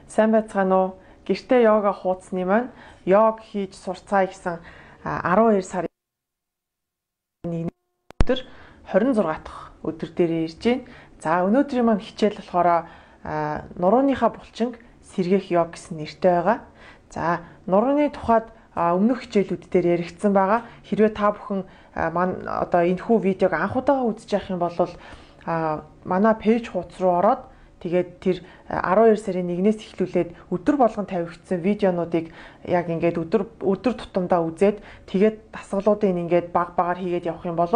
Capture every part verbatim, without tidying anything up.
Сайн байцгаана уу? Гэртээ йога хуудасны маань йог хийж сурцгаая гэсэн арван хоёр сарын өдөр хорин зургаан дахь өдөр дээр ирж байна. За өнөөдрийн маань хичээл болохоор нурууныхаа булчинг сэргээх йог гэсэн нэртэй байгаа. За нурууны тухайд өмнөх хичээлүүд дээр яригдсан байгаа. Хэрвээ та бүхэн маань одоо энэхүү видеог анх удаага үзэж явах юм бол манай пэйж хуудас руу ороод тэгээд тэр арван хоёр сарын нэгнээс эхлүүлээд өдөр болгон тавигдсан видеонуудыг яг ингээд өдөр өдөр тутамдаа үзээд тэгээд дасгалуудыг ингээд баг багаар хийгээд явах юм бол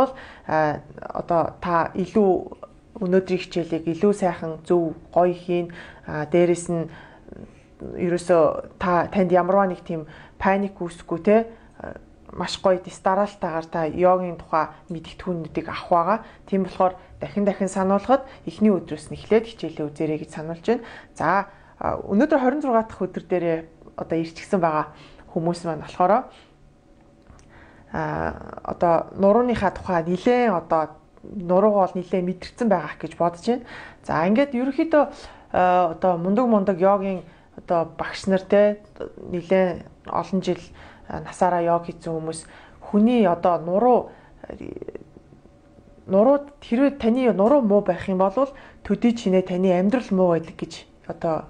одоо та илүү өнөөдрийн хичээлийг илүү сайхан зөв гоё хийн. Дээрээс нь ерөөсөө та танд ямарваа нэг тийм паник үүсэхгүй те маш гоё дистаралтайгаар та йогийн тухай мэдгэдэггүүнүүдийг авах байгаа. Тийм болохоор дахин дахин сануулхад эхний өдрөөс нь эхлээд хичээлээ үзээрэй гэж сануулж байна. За өнөөдөр хорин зургаан дахь өдөр дээр одоо ирчихсэн байгаа хүмүүс маань болохоор а одоо нурууныхаа тухай нилээн одоо нуруугаа бол нилээн мэдэрсэн байгаа гэж бодож байна. За ингээд ерөнхийдөө одоо мундаг мундаг йогийн одоо багш нар те нилээн олон жил насаараа йог хийсэн хүмүүс хүний одоо нуруу нурууд хэрвээ таны нуруу муу байх юм бол төдий чинээ таны амьдрал муу байдаг гэж одоо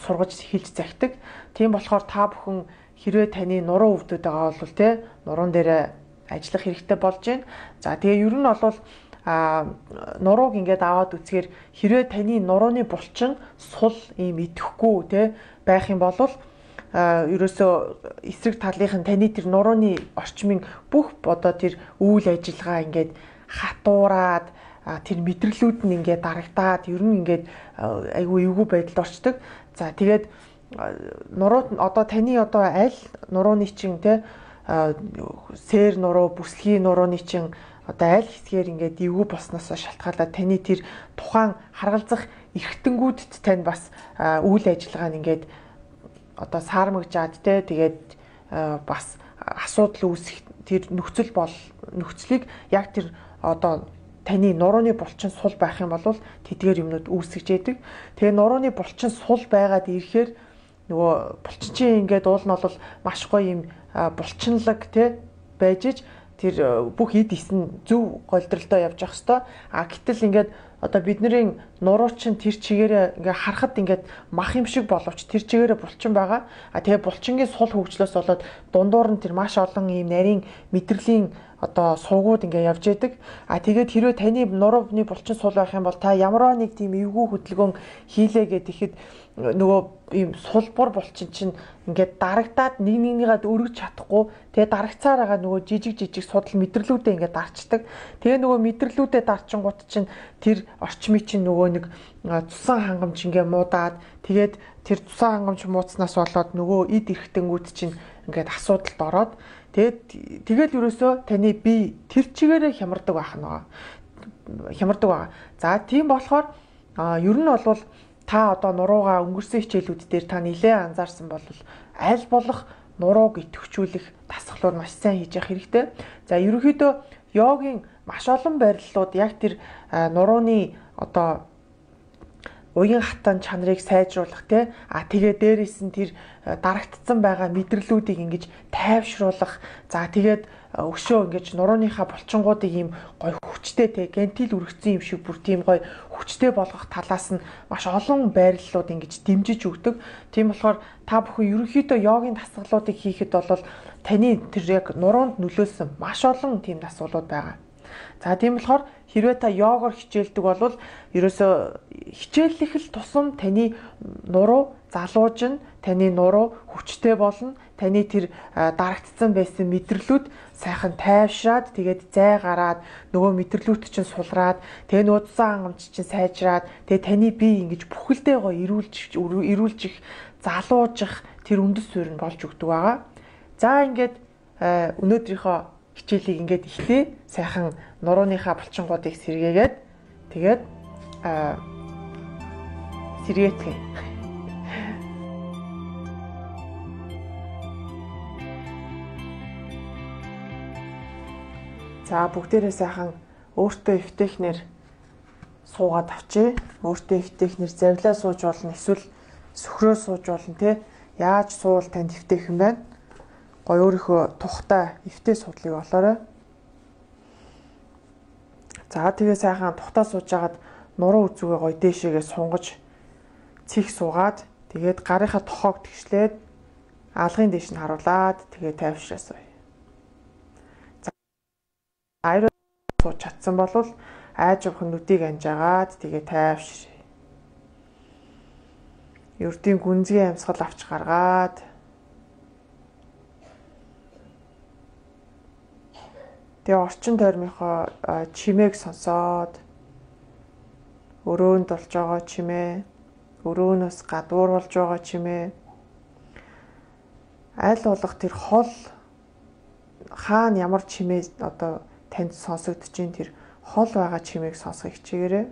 сургаж хэлж захидаг. Тийм болохоор та бүхэн хэрвээ таны нуруу өвдөд байгаа бол те нуруун дээр ажиллах хэрэгтэй болж байна. За тэгээ ер нь бол а нурууг ингээд аваад үзэхээр хэрвээ таны нурууны булчин сул ийм идэхгүй те байх юм бол ерөөсөө эсрэг талынх нь таны тэр нурууны орчмын бүх одоо тэр үйл ажиллагаа ингээд хатуураад тэр мэдрэлүүд нь ингээд дарагдаад ер нь ингээд айгүй эвгүй байдалд орчдөг. За тэгээд нурууд одоо таны одоо аль нурууны чинь те сээр нуруу, бүсгийн нурууны чинь одоо аль хэсгээр ингээд эвгүй болсноос шалтгаалаад таны тэр тухайн харгалзах эргэтэнгүүдэд тань бас үйл ажиллагаа нь ингээд одоо саармагжаад те тэгээд бас асуудал үүсэх тэр нөхцөл бол нөхцөлийг яг тэр одоо таны нурууны булчин сул байх юм бол тэдгээр юмнууд үүсгэж яадаг. Тэгээ нурууны булчин сул байгаад ирэхээр нөгөө булчин чинь ингээд уул нь бол маш гоё юм булчинлаг те байж иж тэр бүх эд ис нь зөв голдролтой явж явах хэвээр. А гэтэл ингээд одоо бидний нуруу чинь тэр чигээрээ ингээ харахад ингээд мах юм шиг боловч тэр чигээрээ булчин байгаа. А тэгээ булчингийн сул хөгжлөөс болоод дундуур нь тэр маш олон ийм нарийн мэдрэлийн одоо суугууд ингээ явж яадаг. А тэгээд хэрвээ таны нурууны булчин сул байх юм бол та ямарваа нэг тийм эвгүй хөдөлгөөн хийлээ гэхэд нөгөө ийм сулбар булчин чинь ингээд дарагдаад нэг нэгнийгээ өргөж чадахгүй тэгээ дарагцаар байгаа нөгөө жижиг жижиг судал мэдрэлүүдээ ингээд дарчдаг. Тэгээ нөгөө мэдрэлүүдээ дарчингууд чинь тэр орчмыг чинь нөгөө нэг цусан хангамж ингээ муудаад тэгээд тэр цусан хангамж муудснаас болоод нөгөө эд эрхтэнгүүд чинь ингээд асуудалд ороод тэгээд тэгэл ерөөсөө таны бие тэр чигээрээ хямардаг байх нь хямардаг байгаа. За тийм болохоор ер нь бол та одоо нуруугаа өнгөрсөн хичээлүүд дээр та нэлээд анзаарсан бол аль болох нурууг идэвхжүүлэх дасгалууд маш сайн хийж явах хэрэгтэй. За ерөнхийдөө йогийн маш олон байрлалууд яг тэр нурууны одоо уян хатан чанарыг сайжруулах те а тэгээ дээрээс нь тэр дарагдсан байгаа мэдрэлүүдийг ингэж тайвшруулах. За тэгээд өшөө ингэж нурууныхаа булчингуудыг ийм гой хүчтэй те гентил үргэцсэн юм шиг бүр тийм гой хүчтэй болгох талаас нь маш олон байрлалууд ингэж дэмжиж өгдөг. Тийм болохоор та бүхэн ерөнхийдөө йогийн дасгалуудыг хийхэд бол таны тэр яг нуруунд нөлөөлсөн маш олон тийм дасгалууд байгаа. За тийм болохоор хэрвээ та йогоор хичээлдэг бол ерөөсөө хичээллэх л тусам таны нуруу залуужна, таны нуруу хүчтэй болно, таны тэр дарагдсан байсан мэдрэлүүд сайхан тайвшраад тэгээд зай гараад нөгөө мэдрэлүүд чинь сулраад тэгээ нөгөө цусан хангамж чинь сайжраад тэгээ таны бие ингэж бүхэлдээ гоё ирүүлж ирүүлжих, залуужих тэр үндэс суурь нь болж өгдөг байгаа. За ингээд өнөөдрийнхөө хичээлийг ингээд ихлээ сайхан нурууныхаа булчингуудыг сэргээгээд тэгээд сэргээтгэе. За бүгдээрээ сайхан өөртөө эвтэхнэр суугаад авчээ. Өөртөө эвтэхнэр завлаа сууж болно. Эсвэл сөхрөө сууж болно те. Яаж суул танд эвтээх юм байна? Гой өөрийнхөө тухтай эвтэй судлыг олоорой. За тэгээ сайхан тухтаа сууж агаад нуруу үзүүгээ гой дээшээгээ сунгаж цих суугаад тэгээд гарынхаа тохоог тэгшлээд алгын дээш нь харуулад тэгээ тайвшраасаа. За аяр сууж чадсан бол айж авах нүдийг анжаагаад тэгээ тайвшраа. Ердийн гүнзгий амьсгал авч гаргаад тэгээ орчин тойрмынхоо чимээг сонсоод өрөөнд болж байгаа чимээ, өрөөнөөс гадуур болж байгаа чимээ, аль болох тэр хол хаана ямар чимээ одоо танд сонсогдож ин тэр хол байгаа чимээг сонсох хичээгээрэй.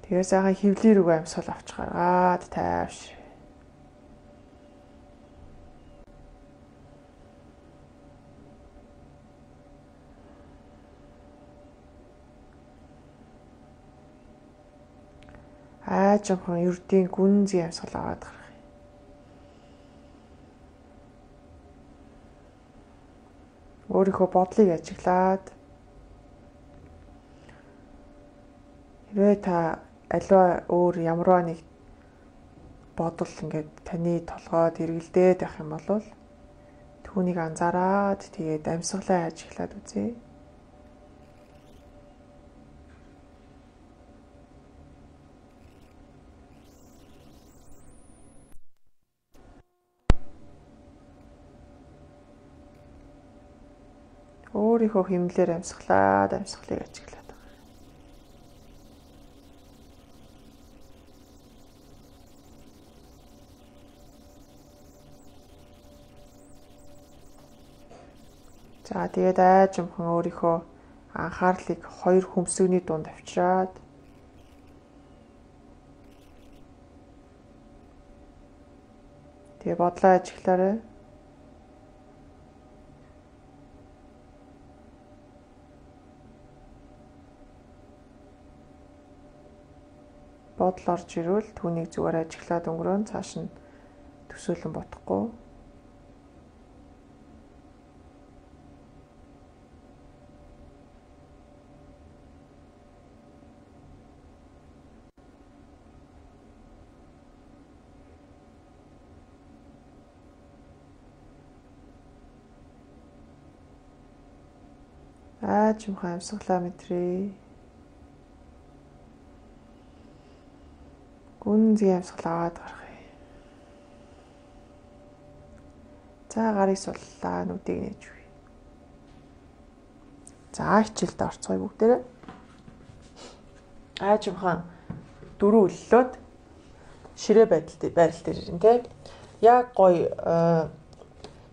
Тэгээ сайхан хөвлөөр үгүй амьсгал авч гаргаад тайвшраа. Аажимхан ердийн гүнзгий амьсгал аваад гарах. Өөрийнхөө бодлыг ажиглаад хэрвээ та аливаа өөр ямарваа нэг бодол ингээд таны толгойд эргэлдээд байх юм бол түүнийг анзаараад тэгээд амьсгалаа ажиглаад үзье. Өөрийнхөө хэмнэлээр амьсгалаад амьсгалыг ажиглаад. За тэгээд айжмхан өөрийнхөө анхаарлыг хоёр хөмсгний дунд авчираад тэгээд бодлоо ажиглаарай. Бодол орж ирвэл түүнийг зүгээр ажиглаад өнгөрөөн цааш нь төсөөлөн бодохгүй. Аажимхан амьсгалаа мэдрээ. Гүнзгий амьсгал аваад гаргая. За гарыг суллаа, нүдийг нээж үгүй. За хичээлд орцгоё бүгдээрээ. Аажимхан дөрөв өллөөд ширээ байдалд байрал дээр ирэн тэ. Яг гоё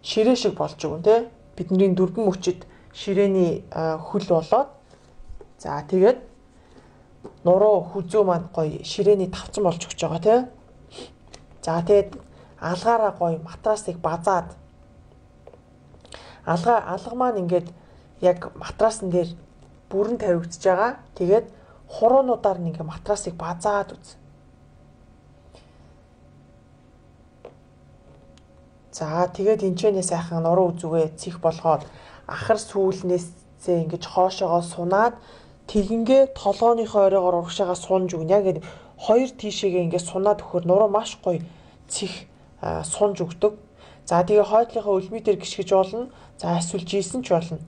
ширээ шиг болж өгөн тэ. Бидний дөрвөн мөчид ширээний хөл болоод за тэгээд нуруу хүзүү маань гоё ширээний тавцан болж өгч байгаа тий. За тэгээд алгаараа гоё матрасыг базаад алга алга маань ингээд яг матрасан дээр бүрэн тавигдчихж байгаа. Тэгээд хуруунуудаар нь ингээд матрасыг базаад үз. За тэгээд энэчнээ сайхан нуруу үзүүгээ цих болгоод ахар сүүлнээсээ ингэж хоошоогоо сунаад тэгингээ толгооныхоо оройгоор урагшаага сунж өгнө. Яг ингэ хоёр тишээгээ ингэ сунаад өгөхөр нуруу маш гоё цих сунж өгдөг. За тэгээ хойдлынхаа өлмий дээр гიშгэж болно. За эсвэл жийсэн ч болно.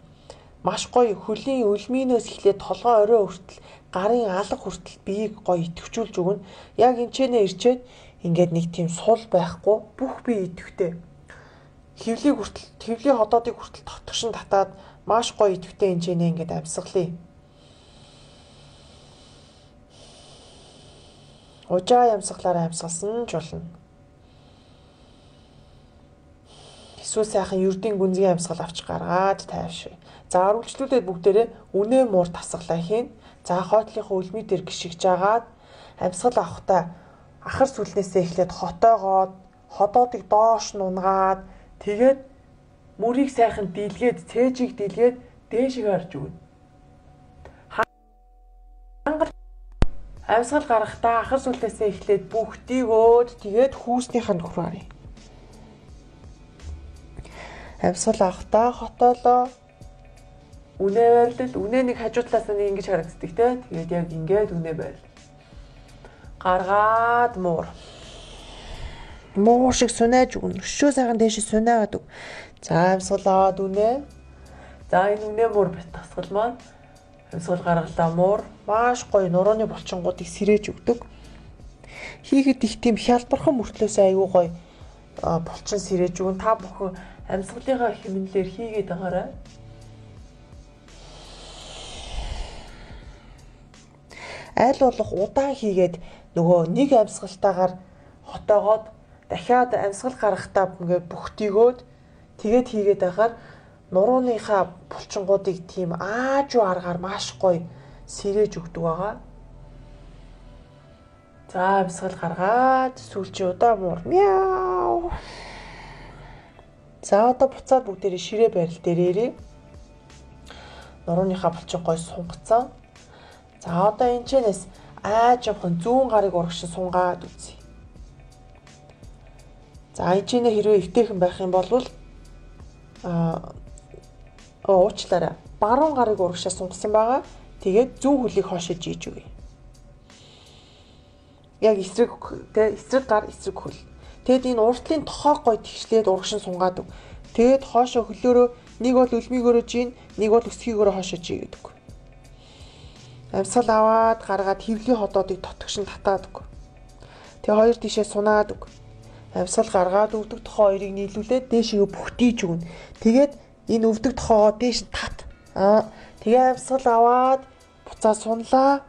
Маш гоё хөлийн өлмийнөөс эхлээд толгоо орой хүртэл гарын алга хүртэл биеийг гоё идэвхжүүлж өгнө. Яг энэчнээ ирчээд ингээд нэг тийм сул байхгүй бүх бие идэвхтэй. Хевлийг хүртэл хевлийн ходоодыг хүртэл татгшин татаад маш гоё идэвхтэй энэчнээ ингээд амьсгалъя. Ужаа амьсгалаараа амьсгалсан ч болно. Эсвэл сайхан ердийн гүнзгий амьсгал авч гаргаад тайвшраа. За үргэлжлүүлээд бүгдээрээ үнэ муур тасгалаа хийн. За хойтлынхоо өлмий дээр гიშгэж агаад амьсгал авахтаа ахар сүлнээсээ эхлээд хотоогоод ходоодыг доош нунгаад тэгээд мөрийг сайхан дийлгээд цээжийг дийлгээд дээшээ харж өгнө. Амьсгал гаргахдаа ахар сүлдээсээ эхлээд бүгдийг өөд тэгээд хүүснийх нь нөхрөө харъя. Амьсгал авахдаа хотоолоо үнэ байрлал, үнэ нэг хажуу талаас нь ингэж харагддаг те. Тэгээд яг ингээд үнэ байл. Гаргаад муур. Муур шиг сунаж өгнө. Өшөө сайхан дээш сунаагаад өг. За амьсгал аваад үнэ. За энэ үнэ муур бит тасгал маань амьсгал гаргалаа муур маш гоё нурууны булчингуудыг сэрээж өгдөг. Хийхэд их тийм хялбархан мөртлөөсөө аюу гоё булчин сэрээж өгөн. Та бүхэн амьсгалынхаа хэмнэлээр хийгээд байгаарай. Аль болох удаан хийгээд нөгөө нэг амьсгалтаагаар хотоогоод дахиад амьсгал гаргахдаа ингээд бүхтийгөөд тэгээд хийгээд байхаар нурууныхаа булчингуудыг тийм аажуу аргаар маш гоё сэрээж өгдөг байгаа. За амьсгал гаргаад сүүлчийн удаа муур мяу. За одоо буцаад бүгдээрээ ширээ барил дээр ирээ. Нурууныхаа булчин гоё сунгацсан. За одоо энэ чэнэс аажимхан зүүн гарыг урагшин сунгаад үзье. За энэ чинь хэрвээ эвтэйхэн байх юм бол аа уучлаарай. Баруун гарыг урагшаа сунгасан байгаа. Тэгээд зүүн хөлийг хоошиж ийж өгье. Яг эсрэг тэ эсрэг гар эсрэг хөл. Тэгэд энэ уртлын тохоо гой тэгшлээд урагшин сунгаад өг. Тэгэд хоошо хөлөөрөө нэг бол үлмигөөрөө жин, нэг бол өсгийгөөрөө хоошож ий гэдэг. Амьсгал аваад гаргаад хөвлийн ходоодыг тотгошин татаад өг. Тэгээ хоёр тишээ сунаад өг. Амьсгал гаргаад өвдөг тохоо хоёрыг нийлүүлээд дээшээ бүхтийж өгнө. Тэгээд энэ өвдөг тохоогоо дээш нь тат. Аа тэгээ амьсгал аваад буцаа сунлаа.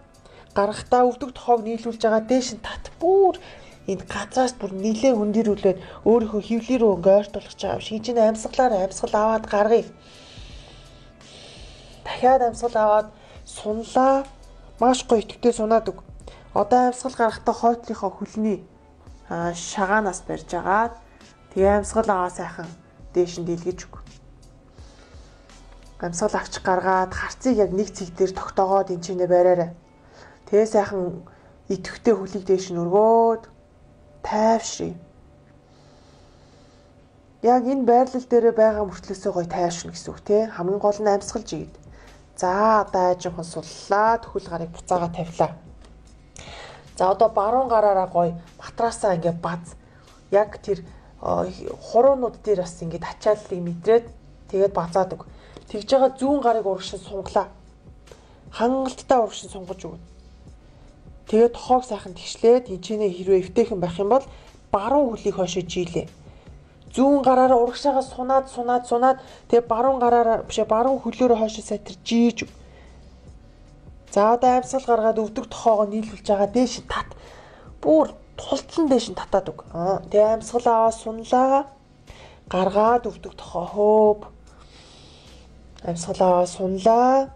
Гаргахдаа өвдөг тохоог нийлүүлж байгаа дээш нь тат. Бүр энэ газраас бүр нилээ хөндөрүүлээд өөрийнхөө хөвлий рүү ингээ ойртуулах чаав. Шинжин амьсгалаар амьсгал аваад гаргая. Дахиад амьсгал аваад сунлаа. Маш гоё итгэвтэй сунаад өг. Одоо амьсгал гаргахдаа хойтлынхоо хөлний аа шагаанаас барьж агаад тэгээ амьсгал аваа сайхан дээш нь дийлгэж өг. Амьсгал авч гаргаад харцыг яг нэг цэг дээр тогтоогоод энэ чинээ бариарай. Тэгээ сайхан итгэвтэй хөлийг дээш нь өргөөд тайвшрий. Яг энэ байрлал дээр байгаа мөртлөөсөө гоё тайвшрна гэсэн үг тий. Хамгийн гол нь амьсгалж ийд. За одоо ажимхан суллаад хөл гарыг буцаага тавилаа. За одоо баруун гараараа гоё матраасаа ингээ баз. Яг тэр хуруунууд дээр бас ингээ ачааллыг мэдрээд тэгээд базаад өг. Тэгж байгаа зүүн гарыг урагшин сунглаа. Хангалттай урагшин сунгаж өгнө. Тэгээд тохоог сайхан тэгшлээд энэ чинээ хэрвээ эвтэйхэн байх юм бол баруун хөлийг хойшоо жийлээ. Зүүн гараараа урагшаагаа сунаад сунаад сунаад тэгээд баруун гараараа бишээ баруун хөлөөрөө хойшоо сайтар жийж. За одоо амьсгал гаргаад өвдөг тохоогоо нийлүүлж байгаа дээш тат. Бүр тултлан дээш нь татаад өг. Тэгээд амьсгал аваа сунлаа. Гаргаад өвдөг тохоо хөөв. Амьсгал аваа сунлаа.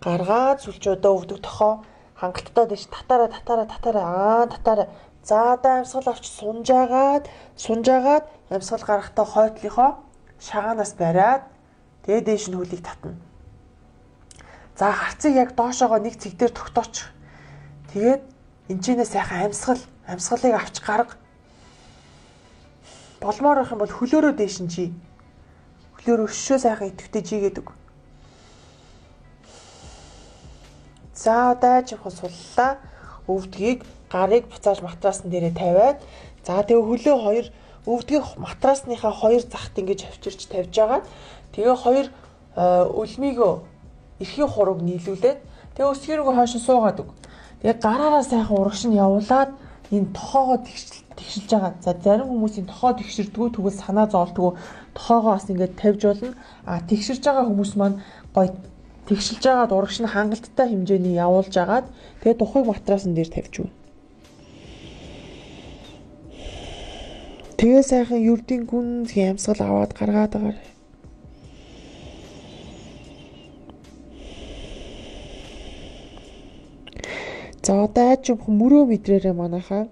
Гаргаад сүлжөөдөө өвдөг тохоо хангалттай дэш татаараа татаараа татаараа аа татаараа. За одоо амьсгал авч сунжаагаад сунжаагаад амьсгал гаргахдаа хойтлынхоо шагаанаас бариад тэгээ дээш нь хөлийг татна. За харцыг яг доошоогоо нэг цэг дээр тогтооч. Тэгээд энэчнээ сайхан амьсгал амьсгалыг авч гарга. Болмоор байх юм бол хөлөөрөө дээш нь жий. Хөлөөрөө өшөө сайхан идэвхтэй жигээд өг. За одоо ажимхан суллаа. Өвдгийг гарыг буцааж матраасн дээрээ тавиад за тэгээ хөлөө хоёр өвдгийг матрасныхаа хоёр захт ингэж авчирч тавьж байгаа. Тэгээ хоёр өлмийгөө эрхийн хурууг нийлүүлээд тэгээ өсгийргөө хойш суугаад өг. Тэгээ гараараа сайхан урагш нь явуулаад энэ тохоогоо тэгшилж байгаа. За зарим хүмүүсийн тохоо тэгширдгүү тэгвэл санаа зовлтгүү тохоогоо бас ингэж тавьж болно. А тэгширж байгаа хүмүүс маань гоё тэгшилж байгаад урагш нь хангалттай хэмжээний явуулж агаад тэгээ тухайг матрасан дээр тавьж өгнө. Тэгээ сайхан юрдийн гүн ямсгал аваад гаргаад байгаа. За одоо ажимхан мөрөө мэдрээрээ манайхаа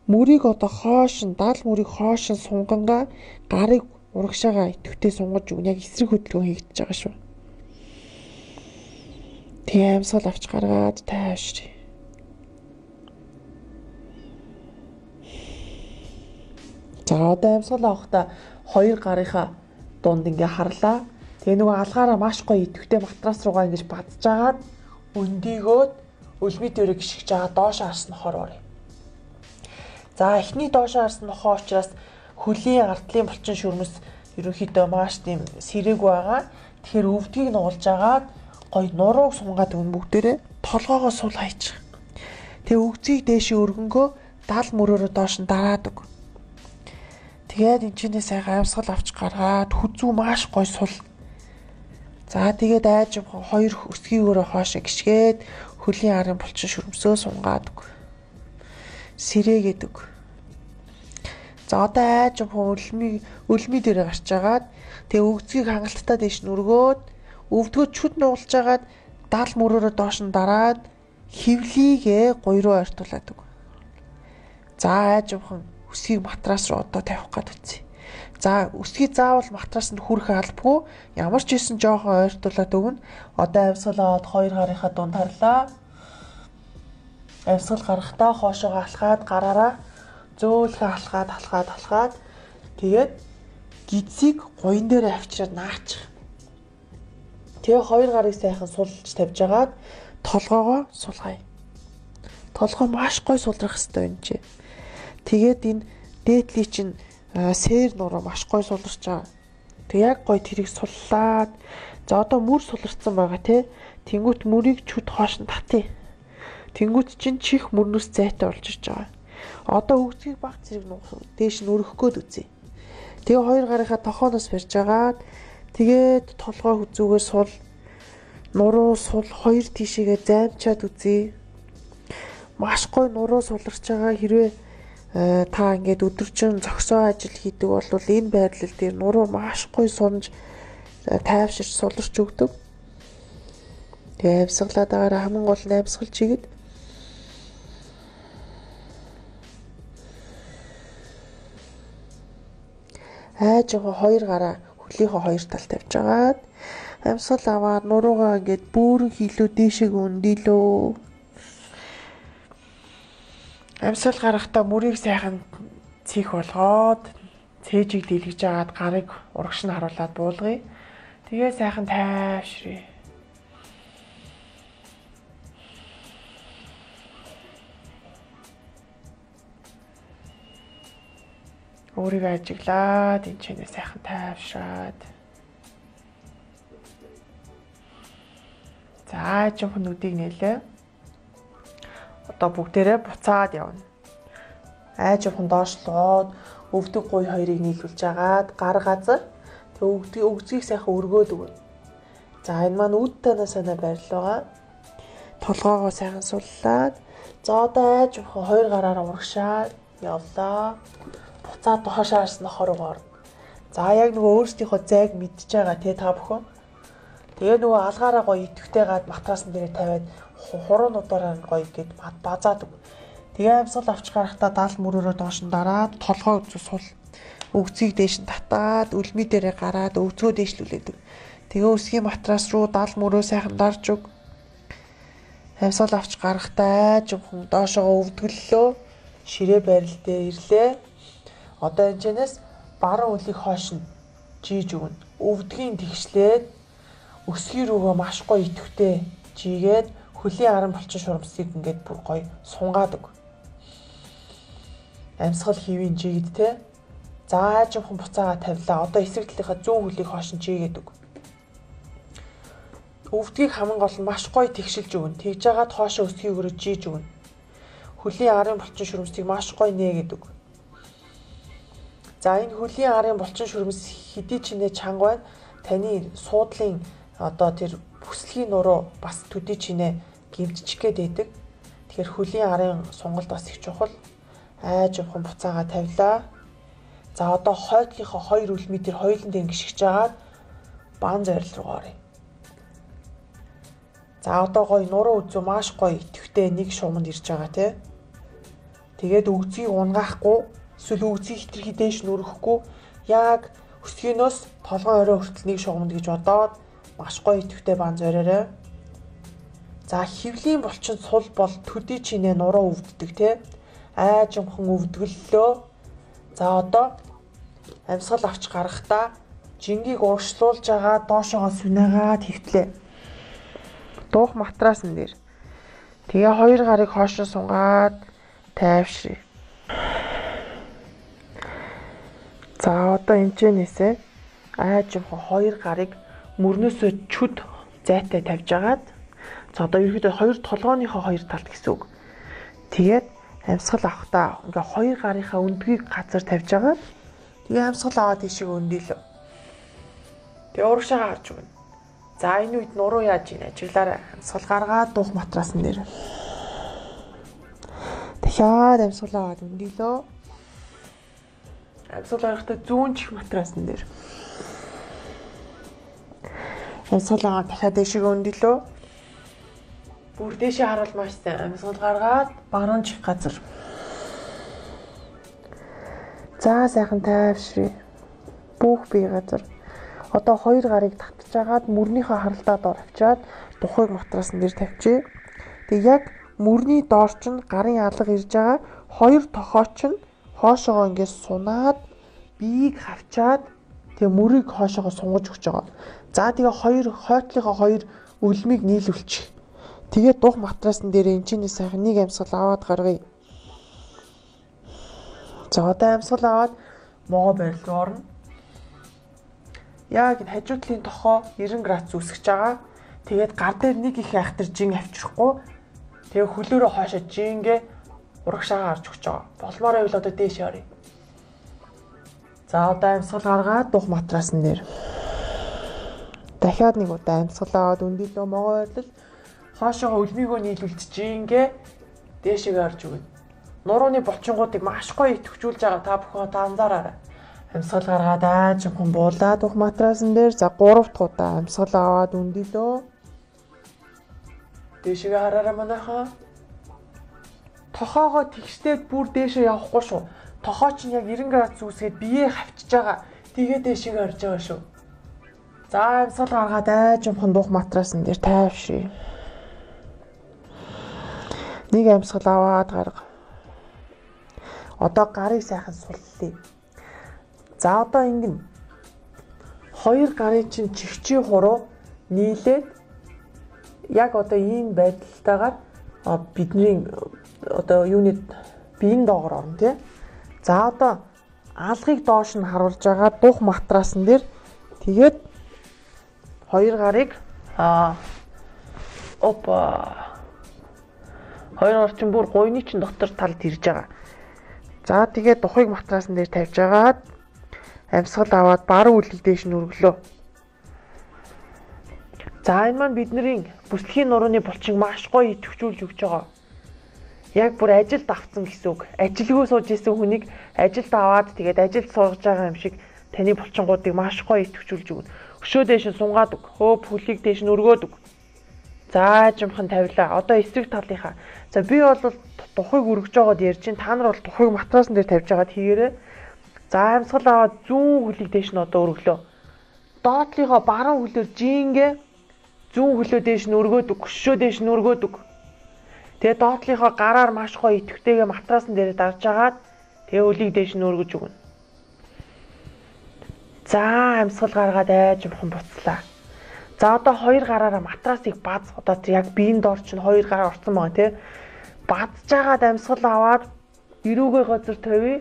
мөрийг одоо хоошин дал мөрийг хоошин сунгангаа гарыг урагшаага идэвхтэй сунгаж өгнө. Яг эсрэг хөдөлгөөн хийгдэж байгаа шүү. Тэгээ амьсгал авч гаргаад тайвшрий. За одоо амьсгал авахдаа хоёр гарынхаа дунд ингээ харлаа. Тэгээ нөгөө алгаараа маш гоё идэвхтэй матрас руугаа ингэж бадчихагаад өндийгөөд өлмий дээрээ гიშгэж байгаа доош харсан нохоор орё. За эхний доош харсан нохоо учраас хөлийн ардлын булчин шүрмэс ерөнхийдөө маш тийм сэрэг байгаа. Тэгэхээр өвдгийг нуулж агаад гоё нурууг сунгаад өгн бүгдээрээ толгоогоо сул хайчих. Тэгээ өгзгийг дээшээ өргөнгөө дал мөрөөрөө доош нь дараад өг. Тэгээд энэ чинээ сайхан амьсгал авч гаргаад хүзүү маш гоё сул. За тэгээд айж хоёр өсгийн өрөө хоошоо гიშгээд хөлийн арын булчин шүрмсөө сунгаад өг. Сэрээгээд өг. За одоо айж өлмий өлмий дээрээ гарч агаад тэгээ өгзгийг хангалттай дэш нь өргөөд өвдгөө чүд нуулж агаад дал мөрөөрөө доош нь дараад хевлийгээ гоё руу ойртуулад өг. За айж явхан өсгийг матрас руу одоо тавих гээд үтсэ. За өсгийг заавал матрасанд хүрэх албагүй ямар ч хийсэн жоохон ойртуулад өгнө. Одоо амьсгал аваад хоёр гарынхаа дунд харлаа. Амьсгал гарахдаа хоошоо алхаад гараараа зөөлхө алхаад алхаад алхаад тэгээд гидсийг гоён дээр авчираад наачих. Тэгээ хоёр гарыг сайхан сулж тавьж агаад толгоогоо сулгая. Толгоо маш гоё сулрах хэрэгтэй юм чи. Тэгээд энэ дээдлийн чинь сээр нуруу маш гоё суларч байгаа. Тэг яг гоё тэрийг суллаад за одоо мөр суларсан байгаа те. Тэнгүүт мөрийг чүд хоош нь татъя. Тэнгүүт чинь чих мөрнөөс зайтай болж ирж байгаа. Одоо өгзгийг баг зэрэг дээш нь өргөх гээд үзье. Тэгээ хоёр гарынхаа тохооноос барьж агаад тэгээд толгой хүзүүгээр сул нуруу сул хоёр тишээгээ займчаад үзье. Маш гоё нуруу суларч байгаа. Хэрвээ та ингээд өдөржин зогсоо ажил хийдэг бол энэ байрлал дээр нуруу маш гоё сунж тайвширч суларч өгдөг. Тэгээ амьсгалаад байгаараа хамгийн гол нь амьсгалж игээд айж байгаа хоёр гараа хөлийнхөө хоёр талд тавьж агаад амьсгал аваад нуруугаа ингээд бөөрөн хилүү дээшээ өндөлөө. Амьсгал гарахдаа мөрийг сайхан цих болгоод цээжийг дэлгэж агаад гарыг урагш нь харуулад буулгая. Тэгээ сайхан тайвширъя. Өөрийгөө ажиглаад энэ чинээ сайхан тайвшраад. За жоохон нүдийг нээлээ. Одоо бүгдээрээ буцаад явна. Айж явхан доошлоод өвдөг гуй хоёрыг нийлүүлж агаад гар газар тэг өвдөг өгзгийг сайхан өргөөд өгнө. За энэ маань үд танаа санаа байрлал байгаа. Толгоогоо сайхан суллаад за одоо айж явхан хоёр гараараа урагшаад явлаа. Буцаад доош харсан нохороо орно. За яг нөгөө өөрсдийнхөө зайг мэдчихэж байгаа те та бүхэн. Тэгээ нөгөө алгаараа гоё идэвхтэй гад матрасан дээр тавиад хуруунуудаараа гоё гээд базаад өг. Тэгээ амьсгал авч гарахдаа дал мөрөөрөө доош нь дараад толгой үзүү сул. Өгзгийг дээш нь татаад өлмий дээрээ гараад өвзгөө дээшлүүлээд өг. Тэгээ өсгийн матрас руу дал мөрөө сайхан дарж өг. Амьсгал авч гарахдаа жоохон доошоо өвдгөллөө. Ширээ байрал дээр ирлээ. Одоо энэчнээс баруун үлийг хоош нь жийж өгнө. Өвдгийн тэгшлээд өсгий рүүгээ маш гоё идэвхтэй жигээд хөлийн аран булчин шурамсыг ингээд бүр гоё сунгаад өг. Амьсгал хийвийн жигэд те. За жоохон буцаага тавилаа. Одоо эсрэг талынхаа зүүн хөлийг хоош нь жигээд өг. Өвдгийг хамгийн гол нь маш гоё тэгшилж өгнө. Тэгж агаад хоошоо өсгийг өрөө жийж өгнө. Хөлийн арын булчин шурамсыг маш гоё нээгээд өг. За энэ хөлийн арын булчин шүрмэс хэдий ч нэ чанга байна. Таны суудлын одоо тэр бүслэгийн нуруу бас төдий чинээ гимтчих гээд байдаг. Тэгэхээр хөлийн арын сонголт бас их чухал. Айж явхан буцаага тавилаа. За одоо хойдлынхоо хоёр үлмий тэр хоёулын дээр гიშгэж агаад баан зорил руу оръё. За одоо гоё нуруу үзүү маш гоё идэвхтэй нэг шуманд ирж байгаа тий. Тэгээд өгзгийг унгаахгүй эсвэл өгзгийг хитрхи дээш нүрэхгүй яг өсгийнөөс толгой орой хүртэл нэг шугамд гэж бодоод маш гоё идэвхтэй баан зориорой. За хөвлийн булчин сул бол төдий чинээ нуруу өвддөг те. Айж юмхан өвдгөллөө. За одоо амьсгал авч гарахдаа жингийг урагшлуулж байгаа доошоогоо сүнээгаад хөвтлээ. Дуух матрасан дээр. Тэгээ хоёр гарыг хоошоо сунгаад тайвшрээ. За одоо энэчнээсээ аажимхан хоёр гарыг мөрнөөсөө чүд зайтай тавьж агаад за одоо ерөөдөө хоёр толгооныхоо хоёр талд гэсэн үг. Тэгээд амьсгал авахдаа ингээ хоёр гарынхаа өндгийг газар тавьж агаад тэгээ амьсгал аваад тийшээ өндийлөө. Тэгээ урагшаа гарч өгнө. За энэ үед нуруу яаж ийн ажиглаарай. Амьсгал гаргаад дуух матрасан дээр. Дахиад амьсгал аваад өндийлөө. Амьсгал гарахдаа зүүн чих матрасан дээр. Амьсгал аваад дахиад дэшиг өндийлөө. Бүр дэшээ харуул маш сайн. Амьсгал гаргаад баруун чих газар. За сайхан тайвшрээ. Бүх бие газар. Одоо хоёр гарыг татж агаад мөрнийхөө харалтаа доор авчаад тухайг матрасан дээр тавьчих. Тэг яг мөрний доор ч гарын алга ирж байгаа хоёр тохооч нь хоошоогоо ингээд сунаад биеийг хавчаад тэг мөрийг хоошоогоо сунгаж өгч байгаа. За тэгээ хоёр хойтлынхоо хоёр өлмийг нийлүүлчих. Тэгээд дух матрасан дээр энэ чинь сайхан нэг амьсгал аваад гаргая. За одоо амьсгал аваад могоо барил руу орно. Яг энэ хажуу талын тохоо девяносто градус үүсгэж байгаа. Тэгээд гар дээр нэг их айхтар жин авчрахгүй. Тэгээ хөлөөрөө хоошоо жингээ урагшаагаа гарч өгч байгаа. Болмоор байвал одоо дээш оръё. За одоо амьсгал гаргаад дух матрасан дээр. Дахиад нэг удаа амьсгал аваад өндөлөө могоо байлал хоошоо өлмийгөө нийлүүлж жингээ дээшээ гарч өгнө. Нурууны булчингуудыг маш гоё идэвхжүүлж байгаа та бүхэн та анзаараарай. Амьсгал гаргаад аажимхан буулаад дух матрасан дээр за гурав дахь удаа амьсгал аваад өндөлөө. Дээшээ хараарай манайхаа. Тохоогоо тэгштэй бүр дээшээ явахгүй шүү. Тохоо чинь яг девяносто градус үүсгээд биеэ хавчиж байгаа. Тэгээ дээшээ гарч байгаа шүү. За амьсгал гаргаад аажимхан дух матрасан дээр тайвшрээ. Нэг амьсгал аваад гарга. Одоо гарыг сайхан суллаа. За одоо ингэн. Хоёр гарын чинь чихчийн хуруу нийлээд яг одоо ийм байдалтайгаар бидний одоо юуны биеийн доогоор орно тий. За одоо алгыг доош нь харуулж байгаа дух матрасан дээр тэгээд хоёр гарыг аа опа хоёр гар чинь бүр гойны чинь дотор талд ирж байгаа. За тэгээд духыг матрасан дээр тавьж агаад амьсгал аваад баруун үлэг дээш нь өргөлөө. За энэ маань бидний бүслэхийн нурууны булчин маш гоё идэвхжүүлж өгч байгаа. Яг бүр ажилд авцсан гэсэн үг. Ажилгүй сууж исэн хүнийг ажилд аваад тэгээд ажилд сууж байгаа юм шиг таны булчингуудыг маш гоё идэвхжүүлж өгнө. Өшөө дээш нь сунгаад өг. Хөөп хөлийг дээш нь өргөөд өг. За жимхан тавилаа. Одоо эсрэг талынхаа. За би бол тухайг өргөж байгаад ярьж чинь та нар бол тухайг матрасан дээр тавьж байгаад хийгээрэй. За амьсгал аваад зүүн хөлийг дээш нь одоо өргөлөө. Доотлынхоо баруун хөлөөр жингээ зүүн хөлөө дээш нь өргөөд өг. Өшөө дээш нь өргөөд өг. Тэгээ доотлынхоо гараар маш гоё идэвхтэйгээ матрасан дээр дарж агаад тэгээ хөлийг дээш нь өргөж өгнө. За амьсгал гаргаад айжмхан буцлаа. За одоо хоёр гараараа матрасыг баз одоо яг биеийн доор чинь хоёр гараа орсон байгаа тий. Бадж агаад амьсгал аваад эрүүгээ газар тавья.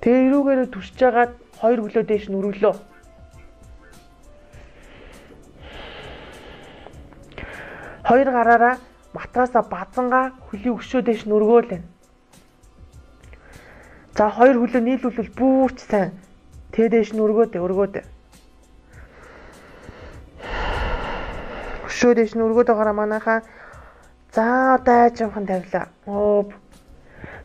Тэгээ эрүүгээрээ түрчж агаад хоёр хөлөө дээш нь өргөлөө. Хоёр гараараа матрасаа базангаа хөлийг өшөө дээш нь өргөөлээ. За хоёр хөлөө нийлүүлвэл бүрч сайн. Тэ дээш нь өргөөд өргөөд. Өшөө дээш нь өргөөд байгаараа манайхаа. За одоо айжмхан тавилаа. Оо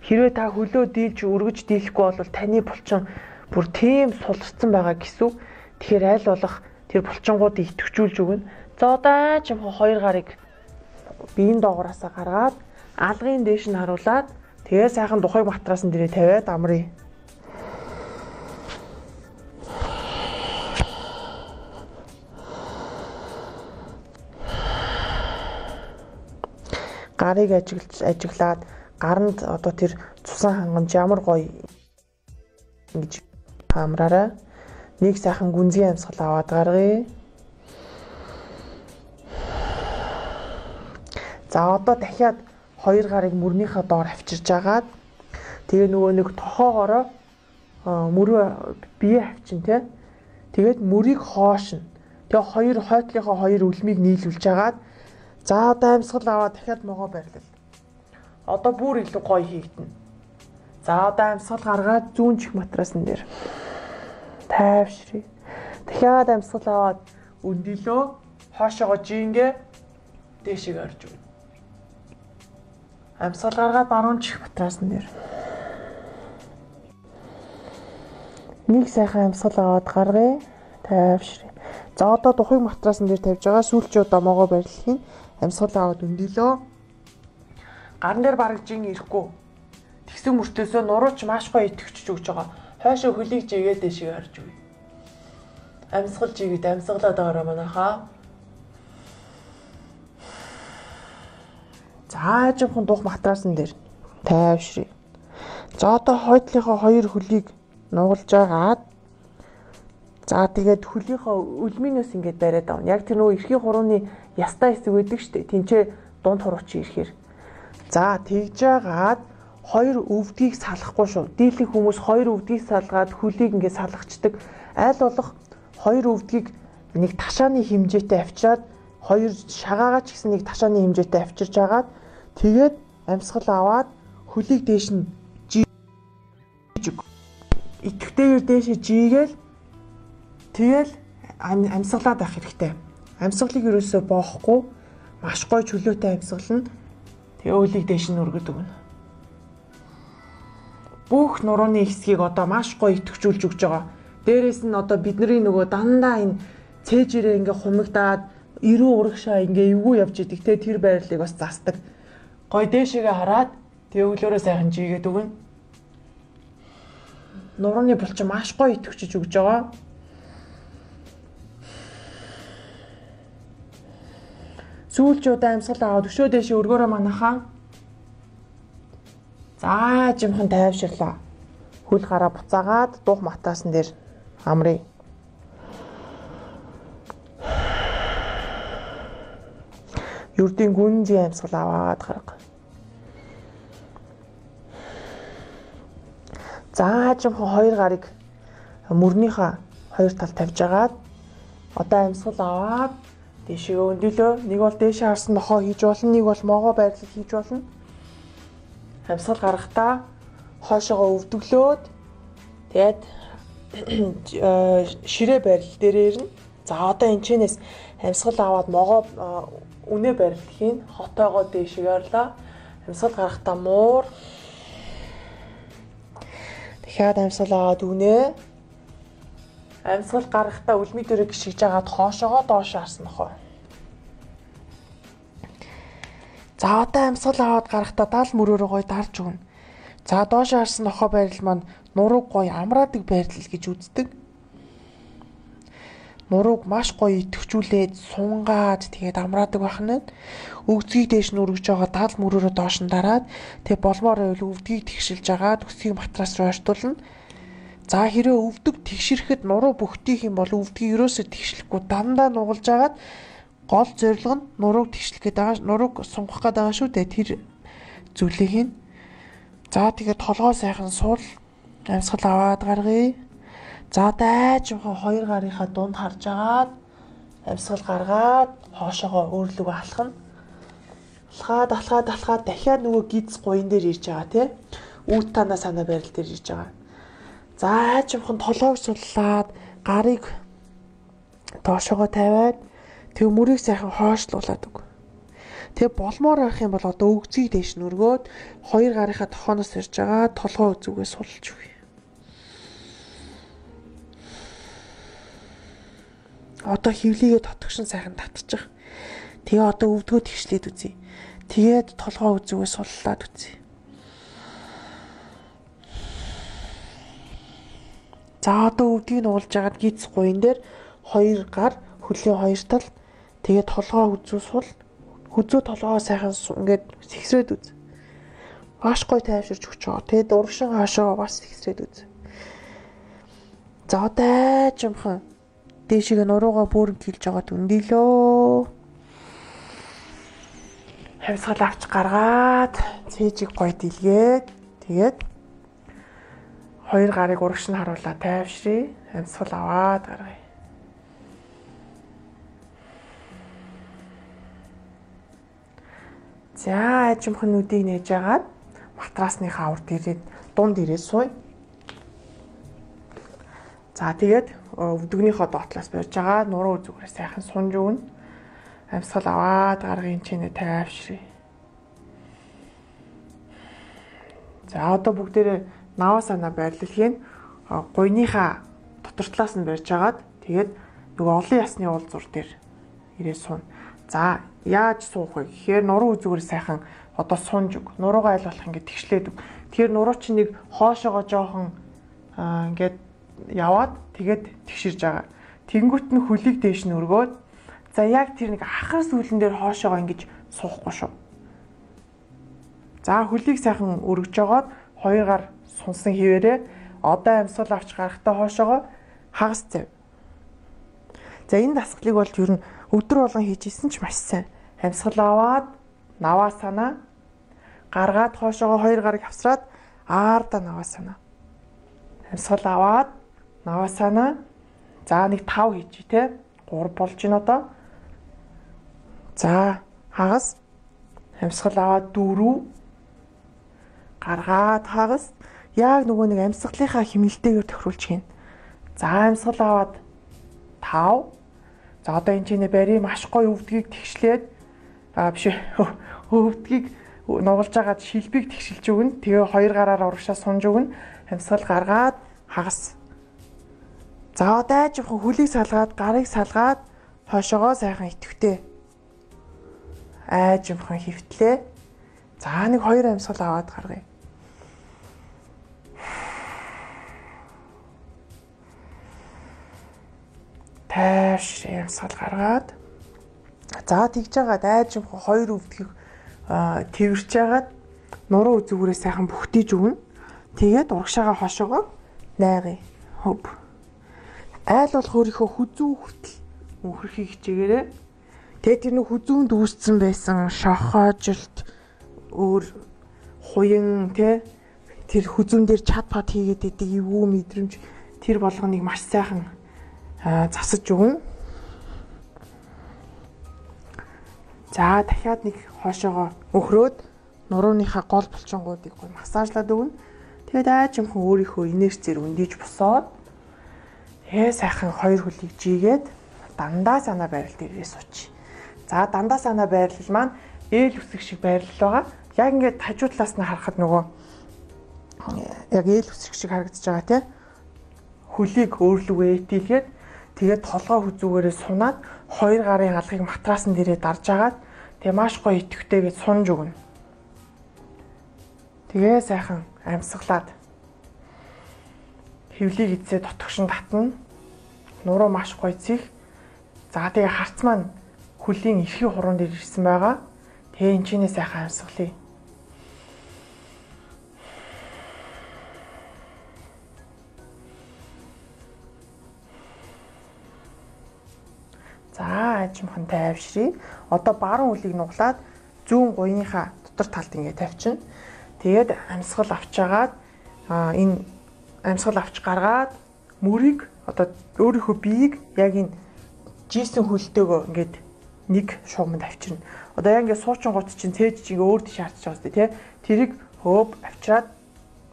хэрвээ та хөлөө дийлж өргөж дийлэхгүй бол таны булчин бүр тийм суларсан байгаа гэсэн. Тэгэхээр аль болох тэр булчингуудыг идэвхжүүлж өгнө. За одоо айжмхан хоёр гарыг биеийн доогуураасаа гаргаад алгын дээш нь харуулад тэгээ сайхан тухайг матрасан дээрээ тавиад амрыг. Гарыг ажиглаж ажиглаад гаранд одоо тэр цусан хангамж ямар гоё ингэж Амраарай. Нэг сайхан гүнзгий амьсгал аваад гаргая. За одоо дахиад хоёр гарыг мөрнийхөө доор авчирж агаад тэгээ нөгөө нэг тохоогоороо мөрөө бие авчин тий. Тэгээд мөрийг хоошно. Тэгээ хоёр хойтлынхоо хоёр үлмийг нийлүүлж агаад за одоо амьсгал аваад дахиад могоо барилал. Одоо бүр илүү гоё хийгдэнэ. За одоо амьсгал гаргаад зүүн чих матрасан дээр тайвшрий. Дахиад амьсгал аваад өндөлөө хоошоогоо жингээ дээшээ орж өгнө. Амьсгал гаргаад баруун чих матрасан дээр. Нэг сайхан амьсгал аваад гаргая. Тайвшрий. За одоо тухыг матрасан дээр тавьж байгаа сүүлчээ одоо могоо барилхын амьсгал аваад өндөлөө. Гарын дээр бараг жин ирэхгүй. Тэгсэн мөртөөсөө нурууч маш гоё итгэвчж өгч байгаа. Хойшоо хөлийг жигээд дэшиг харж үгүй. Амьсгал жигээд амьсгалаад байгаа манайхаа. За жоохон дух матрасан дээр тайвшрий. За одоо хойдлынхоо хоёр хөлийг нугалж агаад за тэгээд хөлийнхөө үлминээс ингээд бариад авна. Яг тэр нөгөө эрхийн хурууны ястай хэсэг байдаг шүү дээ. Тинчээ дунд хуруучин ирэхээр. За тэгж агаад хоёр өвдгийг салахгүй шүү. Дийлэх хүмүүс хоёр өвдгийг салгаад хөлийг ингээд салгачдаг. Аль болох хоёр өвдгийг нэг ташааны хэмжээтэй авчираад хоёр шагаагаа ч гэсэн нэг ташааны хэмжээтэй авчирж агаад тэгээд амьсгал аваад хөлийг дээш нь жиг итгэвтэйгээр дээшээ жигээл тэгэл амьсгалаад байх хэрэгтэй. Амьсгалыг ерөөсөө боохгүй маш гоё чөлөөтэй амьсгална. Тэгээ өлийг дээш нь өргөд өгнө. Бүх нурууны хэсгийг одоо маш гоё итгэвчүүлж өгч байгаа. Дээрээс нь одоо бидний нөгөө дандаа энэ цээжирээ ингээ хумигдаад эрүү урагшаа ингээ эвгүй явж идэг те тэр байрлалыг бас засдаг. Гоё дээшээгээ хараад тэгээ өглөөрөө сайхан жигээд өгнө. Нурууны булчин маш гоё итгэвчж өгч байгаа. Сүүлч удаа амьсгал аваад өшөө дэше өргөөрөө манахаа. За жимхэн тайвширлаа. Хөл гараа буцаагаад дух матаасан дээр амрыг. Юрдийн гүнзгий амьсгал аваад гарга. За жимхэн хоёр гарыг мөрнийхөө хоёр тал тавьж агаад одоо амьсгал аваад дээшээ өндөлөө. Нэг бол дээшээ харсан нохоо хийж болно, нэг бол могоо байрлал хийж болно. Амьсгал гаргахдаа хоошоогоо өвдөглөөд тэгээд ширээ байрлал дээр ирнэ. За одоо энэчнээс амьсгал аваад могоо үнэ байрлахын хотоогоо дээшээ орлоо. Амьсгал гаргахдаа муур. Дахиад амьсгал аваад үнэ. Амьсгал гаргахдаа үлми дээрээ гიშгэж агаад хоошоогоо доош харсан нохоо. За одоо амьсгал аваад гарахдаа даал мөрөөрөө гоё дарж өгнө. За доош харсан нохоо байрал маань нурууг гоё амраадаг байрлал гэж үздэг. Нурууг маш гоё идэвхжүүлээд сунгаад тэгээд амраадаг байна. Өвдгийг дээш нь өргөж байгаа даал мөрөөрөө доош нь дараад тэгээд болмоор байвал өвдгийг тэгшилж агаад өсгийг матрас руу ойртуулна. За хэрэг өвдөг тэгшрэхэд нуруу бөхтийх юм бол өвдгийг ерөөсөө тэгшлэхгүй дандаа нугалж агаад гол зорилго нь нурууг тэгшлэх гээд байгаа, нурууг сунгах гээд байгаа шүү дээ. Тэр зүйлийг хийн. За тэгээд толгоо сайхан суул амьсгал аваад гаргая. За дайжмхан хоёр гарынхаа дунд харж агаад амьсгал гаргаад хоошоогоо өөрлөгөө алхана. Алхаад алхаад алхаад дахиад нөгөө гидс гуйн дээр ирж байгаа тий. Үүт танаа санаа байрал дээр ирж байгаа. За жимхэн толгойг суллаад гарыг доошогоо тавиад тэг мөрийг сайхан хоошлуулад өг. Тэг болмоор байх юм бол одоо өгзгийг дээш нь өргөөд хоёр гарынхаа тохооноос ирж байгаа толгой үзүүгээ сулж өгье. Одоо хөвлийгээ тотгошин сайхан татчих. Тэгээ одоо өвдгөө тэгшлээд үзье. Тэгээд толгой үзүүгээ суллаад үзье. За одоо өвдгийг нуулж агаад гидс гуйн дээр хоёр гар хөлийн хоёр тал тэгээд толгоо үзүү сул хүзүү толгоо сайхан ингээд сэгсрээд үз. Маш гоё тайвширч өгч байгаа. Тэгээд урагшин хаашаа бас сэгсрээд үз. За одоо жимхэн дээшээ нуруугаа бүрэн килж байгаа дүндилөө. Хамсгал авч гаргаад цээжийг гоё дэлгээд тэгээд хоёр гарыг урагш нь харуулаад тайвшрий. Хамсгал аваад гаргая. За жимхэн нүдийг нээж агаад матрасныхаа урд ирээд дунд ирээд сууя. За тэгээд өвдөгнийхөө доотлоос барьж байгаа нуруу зүгээрээ сайхан сунж өгнө. Амьсгал аваад гаргын чинээ тайвшрий. За одоо бүгдээрээ наваа санаа байрлалыг гуйныхаа дотор талаас нь барьж агаад тэгээд нөгөө олон ясны уулзуур дээр ирээ сууна. За яаж суух вэ гэхээр нуруу зүгээрээ сайхан одоо сунж өг. Нуруугаа айл болох ингээд тэгшлээд өг. Тэгэхээр нуруу чинь нэг хоошоогоо жоохон ингээд яваад тэгээд тэгширж байгаа. Тэнгүүт нь хөлийг дээш нь өргөөд за яг тэр нэг ахар сүүлэн дээр хоошоогоо ингэж суухгүй шүү. За хөлийг сайхан өргөж жогоод хоёр гар сунсан хിവэрээ одоо амьсгал авч гарахтаа хоошоогоо хагас зав. За энэ дасгалыг бол ер нь өдөр болгон хийж исэн ч маш сайн. Амьсгал аваад наваа санаа гаргаад хоошоогоо хоёр гарыг авсраад аарда наваа санаа. Амьсгал аваад наваа санаа. За нэг тав хийж тий. гурав болж байна одоо. За хагас. Амьсгал аваад дөрөв. Гаргаад хагас. Яг нөгөө нэг амьсгалынхаа хэмнэлтэйгээр тохируулж гин. За амьсгал аваад тав. За одоо энэ чинээ бари маш гоё өвдгийг тэгшлээд аа биш өвдгийг нугалж агаад шилбийг тэгшилж өгнө. Тэгээ хоёр гараар урагшаа сунж өгнө. Амьсгал гаргаад хагас. За одоо жоохон хөлийг салгаад, гарыг салгаад хойшоогоо сайхан итгэвтэй. Айжимхан хөвтлээ. За нэг хоёр амьсгал аваад гаргая. Тайвш амьсгал гаргаад. За тэгж байгаа айжимхан хоёр өвдгийг тэрвэрч агаад нуруу зүгээрээ сайхан бүхтийж өгнө. Тэгээд урагшаага хойшоогоо найгая. Хөв. Айл болох өөрийнхөө хүзүү хүртэл мөнхөрхийг хичээгээрээ. Тэгээд тэр нэг хүзүүнд үүссэн байсан шохоожилт өөр хуян тэ тэр хүзүүн дээр чат пат хийгээд идэг эвгүй мэдрэмж тэр болгоныг маш сайхан засаж өгнө. За дахиад нэг хоошоогоо өхрөөд нурууныхаа гол булчингуудыг гой массажлаад өгнө. Тэгээд айжимхан өөрийнхөө инерцээр өндийж босоод тэгээ сайхан хоёр хөлийг жигээд дандаа санаа байрал дээрээ сууч. За дандаа санаа байрлал маань ээл үсэг шиг байрлал байгаа. Яг ингээд хажуу талаас нь харахад нөгөө яг ээл үсэг шиг харагдаж байгаа тийм. Хөлийг өөрлөгөө итгэлгээд тэгээд толгой хүзүүгээрээ сунаад хоёр гарын алгыг матрасан дээрээ дарж агаад тэгээ маш гоё итгэвтэйгээд сунж өгнө. Тэгээ сайхан амьсгалаад хөвлийг эзээ дотгошин татна. Нуруу маш гоё зих. За тэгээ харц маань хөлийн эрхий хуруунд дээр ирсэн байгаа. Тэгээ энэ чинээ сайхан амьсгалъя. За ажимхан тайвшрий. Одоо баруун үлийг нуглаад зүүн гуйныхаа дотор талд ингээд тавьчихна. Тэгээд амьсгал авчаагаад энэ амьсгал авч гаргаад мөрийг одоо өөрийнхөө биеийг яг энэ жийсэн хөлтөөгөө ингээд нэг шугамд авчирна. Одоо яг ингээд суучин гут чинь цээж чинь өөр тийш харч байгаа сте тий. Тэрийг хөөв авчираад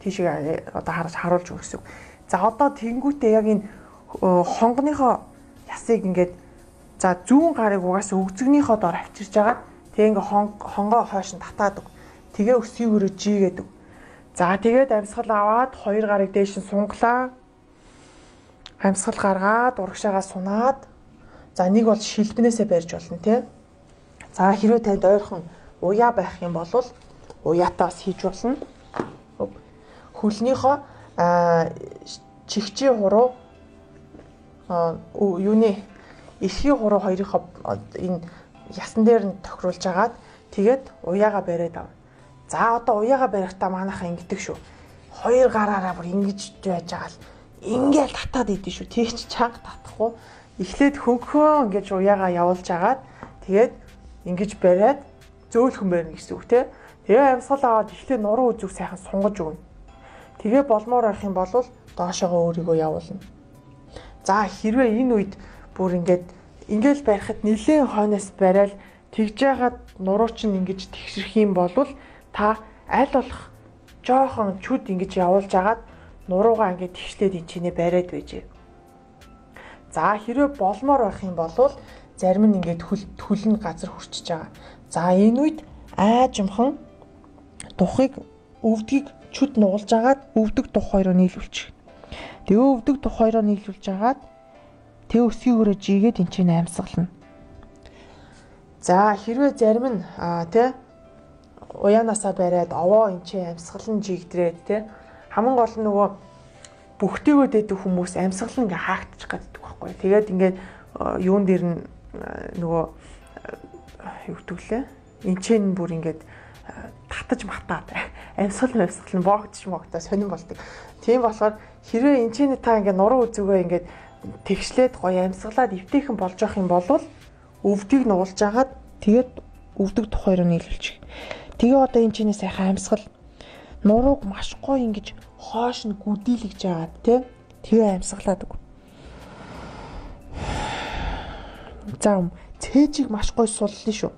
тийшээ одоо харж харуулж өгөх гэсэн. За одоо тэнгүүтээ яг энэ хонгоныхоо ясыг ингээд за зүүн гарыг угаасаа өгзөгнийхөө дор авчирж агаад тэг ингээ хонгоо хойш нь татаад өг. Тэгээ өсгийгөрөө жигээд өг. За тэгээд амьсгал аваад хоёр гарыг дээш нь сунглаа. Амьсгал гаргаад урагшаагаа сунаад за нэг бол шилбнээсээ барьж болно тий. За хэрвээ танд ойрхон уяа байх юм бол уяатаа бас хийж болно. Хөлнийхөө чихчийн хуруу юуны эрхийн хуруу хоёрынхоо энэ ясан дээр нь тохируулж агаад тэгээд уяага бариад ав. За одоо уяага барихтаа манайхаа ингэдэг шүү. Хоёр гараараа бүр ингэж байж байгаа л ингээл татаад идэв шүү. Тэгч чанга татахгүй. Эхлээд хөнгөн ингэж уяагаа явуулж агаад тэгээд ингэж бариад зөөлхөн байна гэсэн үг те. Тэгээ амьсгал аваад эхлээд нуруу үзүүг сайхан сунгаж өгнө. Тэгээ болмоор байх юм бол доошоогоо өөрийгөө явуулна. За хэрвээ энэ үед бүр ингээд ингээл барихад нэлээд хойноос барайл тэгж яагаад нуруу чинь ингэж тэгшрэх юм бол та аль болох жоохон чүд ингэж явуулж агаад нуруугаа ингээд тэгшлээд ин чинээ бариад байжээ. За хэрвээ болмоор байх юм бол зарим нь ингээд хөлн газар хүрчиж байгаа. За энэ үед аажимхан тухыг өвдгийг чүд нуулж агаад өвдөг тух хоёроо нийлүүлчих. Тэгээ өвдөг тух хоёроо нийлүүлж агаад тэг өсгийгөрөө жигээд эн чинь амьсгална. За хэрвээ зарим нь аа тий уяанасаа бариад овоо эн чинь амьсгалан жигдрээд тий хамгийн гол нь нөгөө бүхтэйгөө дэдэг хүмүүс амьсгалан ингээ хаагдчих гэдэг байхгүй. Тэгээд ингээд юун дээр нь нөгөө юу гэдгэлээ эн чинь бүр ингээд татаж матаад амьсгал амьсгал нь боогдчих могтоо сонирн болдог. Тийм болохоор хэрвээ эн чинь та ингээ нуруу үзүүгээ ингээд тэгшлээд гоё амьсгалаад эвтэйхэн болж явах юм бол өвдгийг нуулж агаад тэгээд өвдөг тух хоёроо нийлүүлчих. Тэгээ одоо эн чинь сайхан амьсгал нурууг маш гоё ингэж хоош нь гүдийлгэж агаад тий тэгээ амьсгалаад үг. За цээжийг маш гоё суллаа шүү.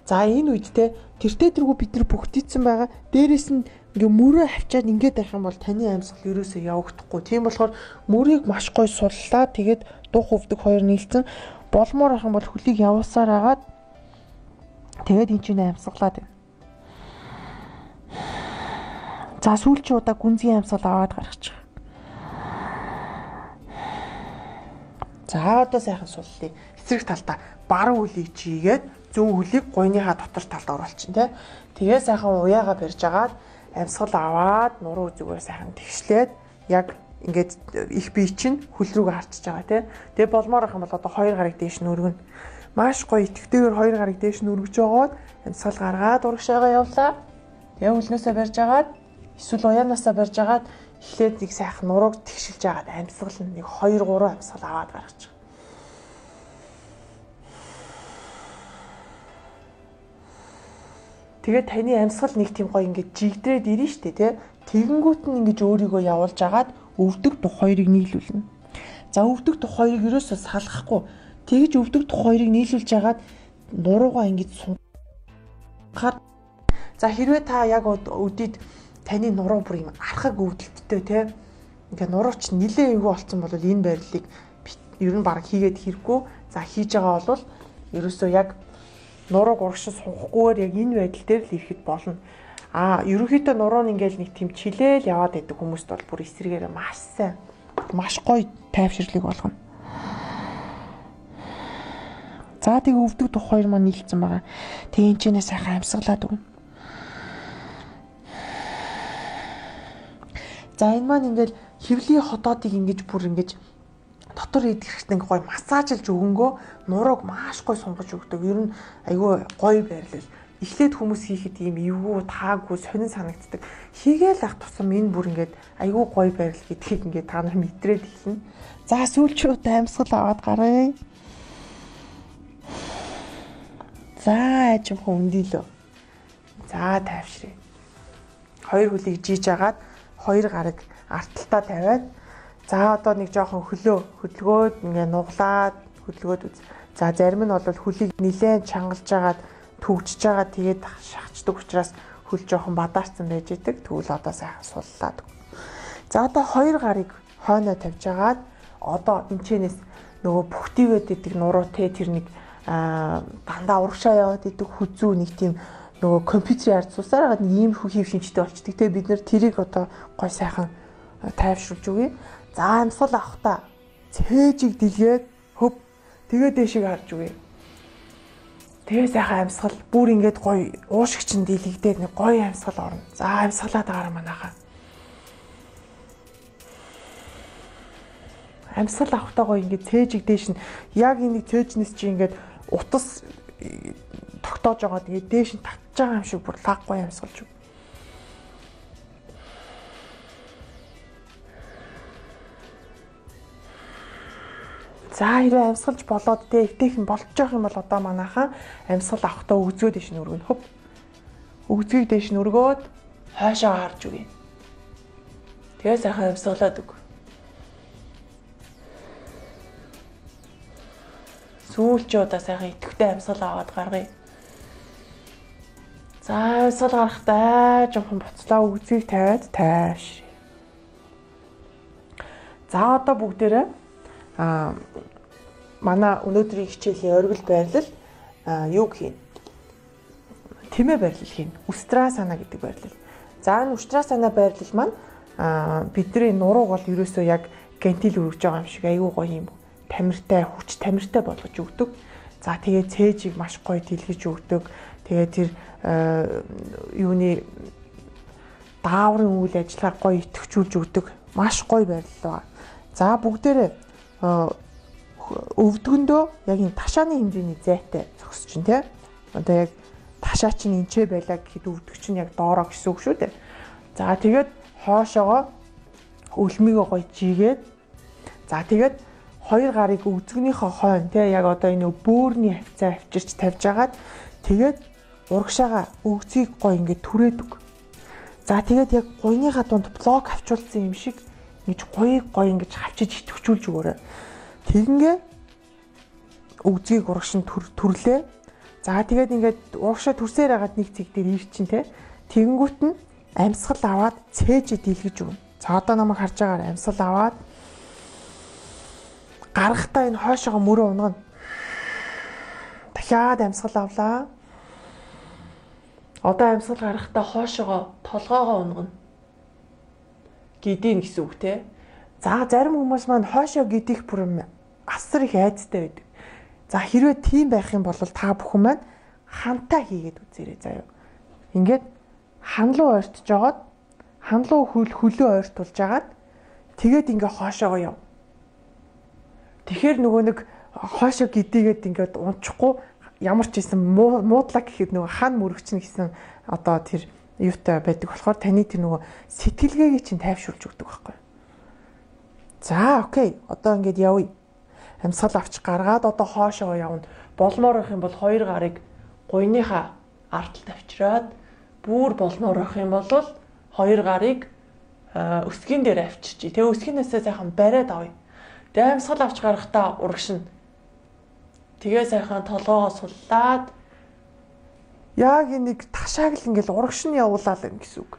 За энэ үед те тэртээ тэргүй бид нар бүгдийдсэн байгаа. Дээрээс нь ингээ мөрөө авчаад ингээд байх юм бол таны амьсгал ерөөсөө явагдахгүй. Тийм болохоор мөрийг маш гоё суллаа. Тэгээд дух өвдөг хоёр нийлцэн болмоор ах юм бол хөлийг явуулсаар агаад тэгээд эн чинь амьсгалаад байна. За сүүлчийн удаа гүнзгий амьсгал аваад гаргачих. За одоо сайхан суллаа. Эсрэг талдаа баруун хөлийг чийгээд зүүн хөлийг гойныхаа дотор талд оруулчин тий. Тэгээ сайхан уяагаа барьж агаад амьсгал аваад нуруу зүгээр сайхан тэгшлээд яг ингээд их бие чинь хөл рүүгээ харчиж байгаа тий. Тэгээ болмоор ах юм бол одоо хоёр гарыг дээш нь өргөнө. Маш гоё итгэвтэйгээр хоёр гарыг дээш нь өргөж аваад амьсгал гаргаад урагшаага явлаа. Тэгээ хөлнөөсөө барьж агаад эсвэл уяанаасаа барьж агаад эхлээд нэг сайхан нурууг тэгшилж агаад амьсгал нэг хоёр гурван амьсгал аваад гаргачих. Тэгээд таны амьсгал нэг тийм гоё ингээд жигдрээд ирнэ штэ тий. Тэгэнгүүт нь ингэж өөрийгөө явуулж агаад өвдөг тух хоёрыг нийлүүлнэ. За өвдөг тух хоёрыг ерөөсөө салгахгүй. Тэгж өвдөг тух хоёрыг нийлүүлж агаад нуруугаа ингэж сунгаар. За хэрвээ та яг өдид таны нуруу бүр юм архаг өвдөлттэй тий. Ингээ нурууч нилээ эвгүй болцсон бол энэ байрлалыг ер нь баг хийгээд хэрэггүй. За хийж байгаа бол ерөөсөө яг нурууг урагшин сунхгүйгээр яг энэ байдал дээр л ирэхэд болно. Аа, ерөнхийдөө нуруу нь ингээл нэг тийм чилээл яваад байдаг хүмүүст бол бүр эсрэгээрээ маш сайн, маш гоё тайвширлыг болгоно. За тэгээ өвдөг тух хоёр маань нийлцсэн байгаа. Тэгээ энэ ч нэ сайхан амьсгалаад өгнө. За энэ маань ингээл хэвлийн ходоодыг ингэж бүр ингэж дотор идэхтэй гоё массажлж өгөнгөө нурууг маш гоё сунгаж өгдөг. Ер нь айгүй гоё байрлал. Эхлээд хүмүүс хийхэд ийм эвгүй, таагүй, сонин санагддаг. Хийгээл ах тусам энэ бүр ингээд айгүй гоё байрлал гэдгийг ингээд та нар мэдрээд эхэлнэ. За сүүлчүүд амьсгал аваад гараа. За ажимхан өндийлөө. За тайвшрээ. Хоёр хөлийг жийж агаад хоёр гараг арталтаа тавиад за одоо нэг жоохон хөлөө хөдөлгөөд ингээ нуглаад хөдөлгөөд үз. За зарим нь бол хөлийг нилээн чангалж агаад төгжиж байгаа тэгээд шахацдаг учраас хөл жоохон бадаарсан байж идэг. Тэгвэл одоо сайхан суллаад. За одоо хоёр гарыг хойноо тавьж агаад одоо энэчнээс нөгөө бүхтийгээд идэг нуруу те тэр нэг дандаа урагшаа яваад идэг хүзүү нэг тийм нөгөө компьютерийн ард сусаар агаад нэг ийм хүү хийв шинжтэй болчдөг. Тэгээ бид нэр тэрийг одоо гой сайхан тайвшруулж өгье. За амьсгал авахта цээжийг дэлгээд хөв тэгээ дэшиг харж өгье. Тэгээ сайхан амьсгал бүр ингээд гой уушигч нь дэлгдээд нэг гой амьсгал орно. За амьсгалаад байгаа манайхаа. Амьсгал авахта гой ингээд цээжийг дээш нь яг энийг цээжнээс чи ингээд утас тогтоож байгаа. Тэгээ дээш нь татж байгаа юм шиг бүр лаг гой амьсгалж өг. За хэрвээ амьсгалж болоод тэ эвтэйхэн болж явах юм бол одоо манайхан амьсгал авахдаа өгзгөө дэш нь өргөнө. Хөп. Өгзгийг дэш нь өргөөд хойшоо харж үгэй. Тэгээ сайхан амьсгалаад өг. Сүүлчээ удаа сайхан идэвхтэй амьсгал аваад гаргая. За амьсгал гарахдаа жоохон буцлаа өгзгийг тавиад тайш. За одоо бүгдээрээ а манай өнөөдрийн хичээлийн оргил байрлал юу хийн? Тэмээ байрлал хийн. Устрасана гэдэг байрлал. За энэ устрасана байрлал маань бидний нурууг бол ерөөсөө яг гентил өргөж байгаа юм шиг аюу гоё юм. Тамиртай, хүч тамиртай болгож өгдөг. За тэгээ цээжийг маш гоё дэлгэж өгдөг. Тэгээ тэр юуны дааврын үйл ажиллагаа гоё идэвхжүүлж өгдөг. Маш гоё байрлал байна. За бүгдээрээ өвдгөндөө яг энэ ташааны хэмжээний зайтай зогсож чинь тий. Одоо яг ташаа чинь энчээ байлаа гэхэд өвдгч чинь яг доороо гэсэн үг шүү дээ. За тэгээд хоошоогоо өлмийгөө гоё жигээд за тэгээд хоёр гарыг өвзгнийхөө хойно тий яг одоо энэ бөөрийн хавцаа авчирч тавьж агаад тэгээд урагшаага өгзгийг гоё ингээд түрээдэг. За тэгээд яг гуйныхаа дунд блок авчулсан юм шиг ингэж гоё гоё ингэж хавчиж идэвхжүүлж өгөөрэй. Тэгингээ өгзгийг урагш нь түрлээ. За тэгээд ингээд урагшаа түрсээр хагаад нэг цэг дээр ирчин те. Тэгэнгүүт нь амьсгал аваад цээж дийлгэж өгнө. За одоо намайг харж байгаагаар амьсгал аваад гарахтаа энэ хойшоогоо мөрөө унгана. Дахиад амьсгал авлаа. Одоо амьсгал гарахтаа хойшоогоо толгоогоо унгана. Гидийн гэсэн үг те. За зарим хүмүүс маань хойшоо гидих бүр асар их айцтай байдаг. За хэрвээ тийм байх юм бол та бүхэн маань хантаа хийгээд үзээрэй заяа. Ингээд ханлуу ойртож жагаад ханлуу хөл хөлөө ойртуулж агаад тэгээд ингээ хоошоогоо яв. Тэгэхээр нөгөө нэг хоошоо гидийгээд ингээд унчихгүй ямар ч юм муудлаа гэхэд нөгөө хан мөрөгчнө гэсэн одоо тэр юутай байдаг болохоор таны тэр нөгөө сэтгэлгээгээ чинь тайвшруулж өгдөг байхгүй. За окей. Одоо ингээд явъя. Амьсгал авч гаргаад одоо хоошоо явна. Болмоор байх юм бол хоёр гарыг гуйныхаа ардталд авчираад бүр болмоор байх юм бол хоёр гарыг өсгийн дээр авчирчий. Тэгээ өсгийнээсээ сайхан бариад авъя. Тэгээ амьсгал авч гарахдаа урагшна. Тэгээ сайхан толгоогоо суллаад яг нэг ташааг л ингээл урагш нь явуулаа л гэсэн үг.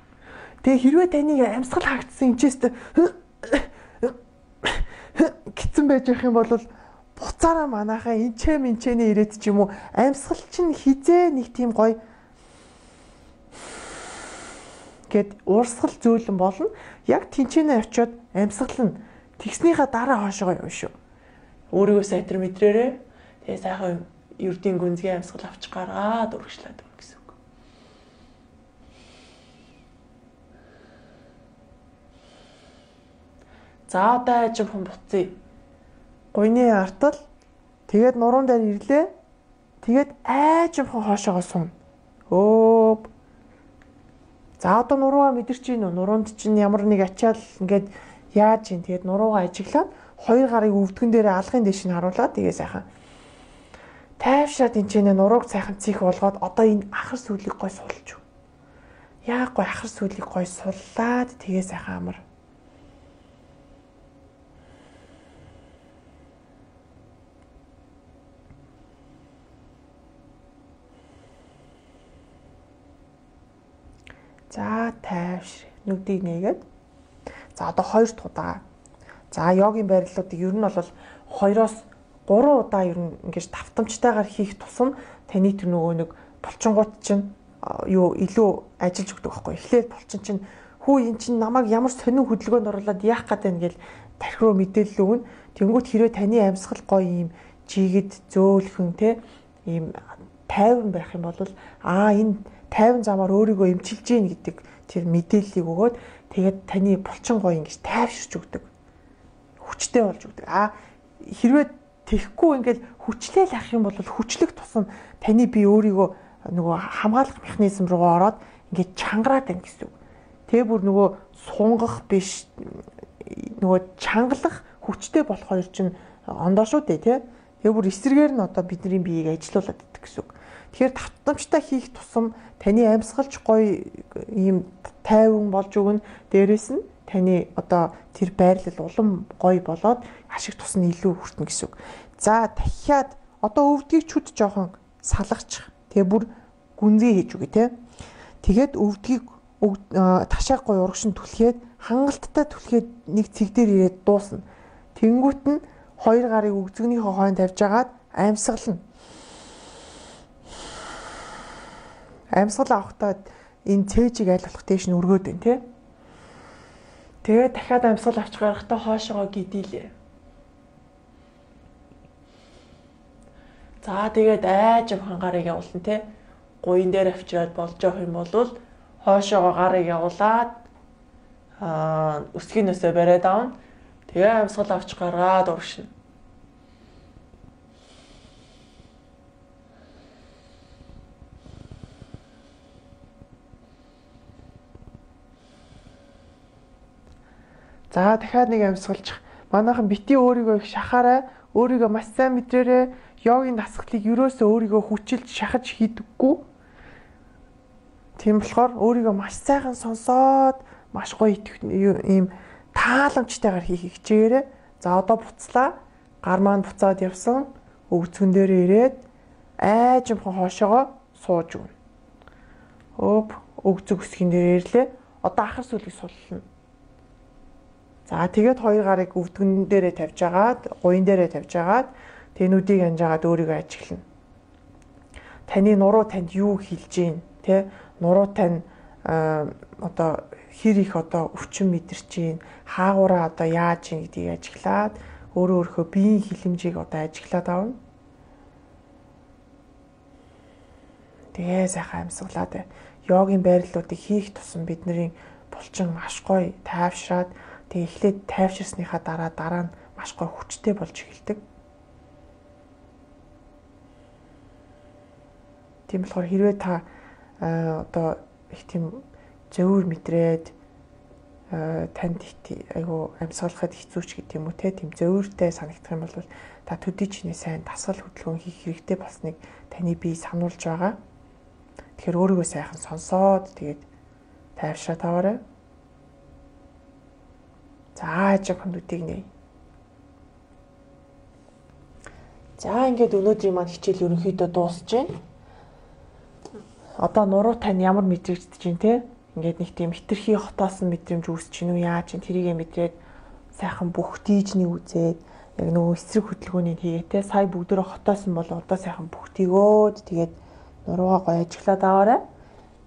Тэгээ хэрвээ таны амьсгал хаагдсан энэчээс гитэн байж явах юм бол буцаараа манайхаа энчээ минчэнэ ирээд ч юм уу амьсгал чинь хизээ нэг тийм гоё гэд уурсгал зөөлөн болно. Яг тэнчэнэ очиод амьсгал нь тэгснийхаа дараа хоошоо явна шүү. Өөрийгөө сайтар мэдрээрээ тэгээ сайхан ердийн гүнзгий амьсгал авч гаргаад урагшлаад өгнө гэсэн үг. За одоо ажим хүн буцъя. Гуйны артал тэгээд нуруунд дээр ирлээ. Тэгээд айжим хүн хоошоогоо сууна. Өөп. За одоо нуруугаа мэдэрч гин үү? Нуруунд чинь ямар нэг ачаал ингээд яаж гин. Тэгээд нуруугаа ажиглаад хоёр гарыг өвдгөн дээр алгын дэш нь харуулаад тэгээ сайхан тайвшраад энэ ч нурууг сайхан цих болгоод одоо энэ ахар сүлийг гой сулж. Яг гой ахар сүлийг гой суллаад тэгээ сайхан амар. За тайвшир. Нүдийг нээгээд. За одоо хоёр дахь удаа. За йогийн байрлалуудыг ер нь бол хоёроос гурван удаа ер нь ингэж давтамжтайгаар хийх тусам таны тэр нөгөө нэг булчингууд чинь юу илүү ажиллаж өгдөг байхгүй. Эхлээд булчин чинь хүү эн чинь намайг ямар сонин хөдөлгөөнд оруулаад яах гээд байна гэл тархи руу мэдээлэл өгнө. Тэнгүүт хэрвээ таны амьсгал гоё юм жигэд зөөлхөн те ийм тайван байх юм бол аа энэ тайван замаар өөрийгөө эмчилж гин гэдэг тэр мэдээллийг өгөөд тэгээд таны булчин гоё ингэж тайвширч өгдөг. Хүчтэй болж өгдөг. Аа хэрвээ тэхгүй ингээд хүчлээл ах юм бол хүчлэх тусам таны бие өөрийгөө нөгөө хамгаалах механизм руу ороод ингээд чангараад байна гэсэн үг. Тэгээ бүр нөгөө сунгах биш нөгөө чангалах хүчтэй болох хоёр чинь ондоо шүү дээ тий. Тэгээ бүр эсрэгээр нь одоо бидний биеийг ажилуулад идэх гэсэн үг. Тэгэхээр татамжтай хийх тусам таны амьсгалч гоё ийм тайван болж өгнө. Дээрээс нь таны одоо тэр байрлал улам гоё болоод ашиг тус нь илүү хүртэнэ гэсэн үг. За дахиад одоо өвдгийг чүд жоохон салгачих. Тэгээ бүр гүнзгий хийж үгүй те. Тэгээд өвдгийг ташааг гоё урагшин түлхээд хангалттай түлхээд нэг цэг дээр ирээд дуусна. Тэнгүүт нь хоёр гарыг өгзгөнийхөө хойно тавьж агаад амьсгална. Амьсгал авахдаа энэ цээжийг аль болох дээш нь өргөөд байна тий. Тэгээд дахиад амьсгал авч гарахдаа хоошоогоо гидийлээ. За тэгээд айж авхан гарыг явуулна тий. Гуйн дээр авчираад болж явах юм бол хоошоогоо гарыг явуулаад аа өсгийнөөсөө бариад авна. Тэгээ амьсгал авч гаргаад урагшина. За дахиад нэг амьсгалчих. Манайхан бити өөрийгөө их шахаарай. Өөрийгөө маш сайн мэдрээрэй. Йогийн дасгалыг юусоо өөрийгөө хүчилж шахаж хийдэггүй. Тийм болохоор өөрийгөө маш сайхан сонсоод маш гоё ийм тааламжтайгаар хийх хичээгээрэй. За одоо буцлаа. Гар маань буцаад явсан. Өвцгөн дээр ирээд айжмхан хоошоогоо сууж өгнө. Өөп өвцөг өсгөн дээр ирлээ. Одоо ахар сүлийг суллана. За тэгээд хоёр гарыг өвдгөн дээрээ тавьж агаад, гуйн дээрээ тавьж агаад тэнүүдийг анжаагаад өөрийгөө ажиглана. Таны нуруу танд юу хэлж гин, тэ? Нуруу тань одоо хэр их одоо өвчин мэдэрч гин, хаагаараа одоо яаж гин гэдгийг ажиглаад өөрөө өөрийнхөө биеийн хилэмжийг одоо ажиглаад авна. Тэгээ сайхан амьсгалаад бай. Йогийн байрлалуудыг хийх тусам бидний булчин маш гоё тайвшраад тэгээ эхлээд тайвширсныхаа дараа дараа нь маш гоё хүчтэй болж эхэлдэг. Тийм болохоор хэрвээ та одоо их тийм зөвөр мэдрээд танд айгу амьсгалахад хэцүүч гэдэг юм уу те тийм зөвөртэй санагдах юм бол та төдий чиний сайн дасгал хөдөлгөөн хийх хэрэгтэй болсныг таны бие сануулж байгаа. Тэгэхээр өөрийгөө сайхан сонсоод тэгээд тайвшраад аваарай. За жаахан нүдийг нэй. За ингээд өнөөдрийн маань хичээл ерөнхийдөө дуусж байна. Одоо нуруу тань ямар мэдрэгдэж байна те? Ингээд нэг тийм хитрхи хотоосон мэдрэмж үүсэж гинүү яаж чинь тэрийгэ мэдрээд сайхан бүх тийжний үзээд яг нөгөө эсрэг хөдөлгөөнийг хийгээ те. Сая бүгдөө хотоосон бол одоо сайхан бүх тийгөөд тэгээд нуруугаа гоё ажиглаад аваарай.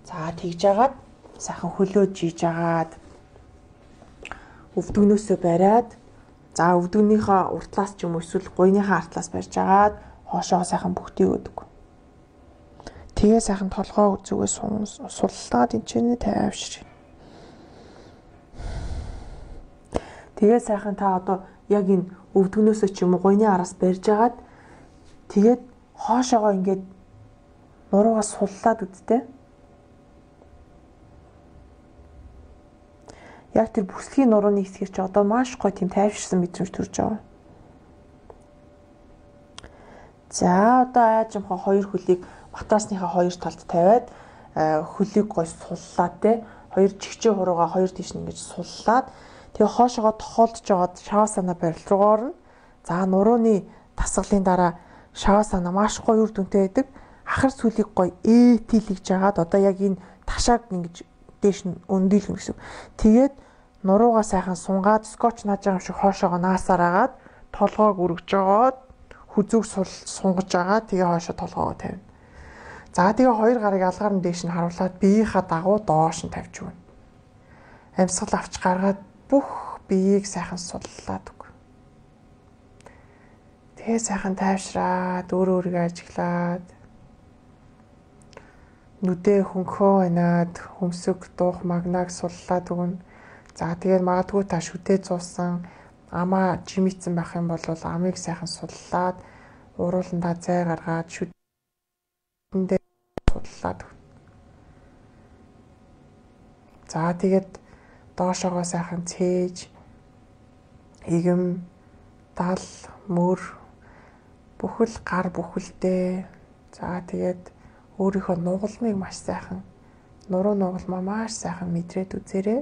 За тэгж агаад сайхан хөлөөж жийж агаад өвдгөнөөсөө бариад за өвдгөнийхөө уртлаас ч юм уу эсвэл гуйныхаа артлаас барьж агаад хоошоо сайхан бүгдийг өгдөг. Тэгээ сайхан толгоо үзүүгээс суллаад энэчнээ тайвшир. Тэгээ сайхан та одоо яг энэ өвдгөнөөсөө ч юм уу гуйны араас барьж агаад тэгээд хоошоогоо ингээд нуруугаа суллаад үдтэй. Яг тэр бүсгийн нурууны хэсгэр чи одоо маш гоё тийм тайвширсан мэдрэмж төрж байгаа. За одоо аажимхаа хоёр хөлийг матраасныхаа хоёр талд тавиад хөлийг гоё суллаад те хоёр чигчээ хуруугаа хоёр тийш нь ингэж суллаад тэгээ хоошоогоо тохиолдож жоод шавасана барил руу орно. За нурууны тасгалын дараа шавасана маш гоё үр дүнтэй байдаг. Ахар сүлийг гоё ээтилгэж жагаад одоо яг энэ ташааг ингэж дээш нь өндийлнэ гэсэн. Тэгээд нуруугаа сайхан сунгаад скотч нааж байгаа юм шиг хоошоогоо наасаар агаад толгоог өргөж жагаад хүзүүг сунгаж агаад тэгээ хоошоо толгоогоо тавина. За тэгээ хоёр гарыг алгаар нь дээш нь харуулад биеийнхаа дагуу доош нь тавьж өгнө. Амьсгал авч гаргаад бүх биеийг сайхан суллаад өг. Тэгээ сайхан тайвшраад өөрөө өөрийгөө ажиглаад нүдээ хөнхөө банаад хөмсөг дуух магнаг суллаад өгнө. За тэгээд магадгүй та шүтээ зуусан амаа жимицэн байх юм бол амыг сайхан суллаад урууландаа зай гаргаад шүтэндээ суллаад өгнө. За тэгээд доошоогоо сайхан цээж игэм дал, мөр бүхэл гар бүхэлдээ. За тэгээд өөрийнхөө нугалмыг маш сайхан, нуруу нугалмаа маш сайхан мэдрээд үзээрэй.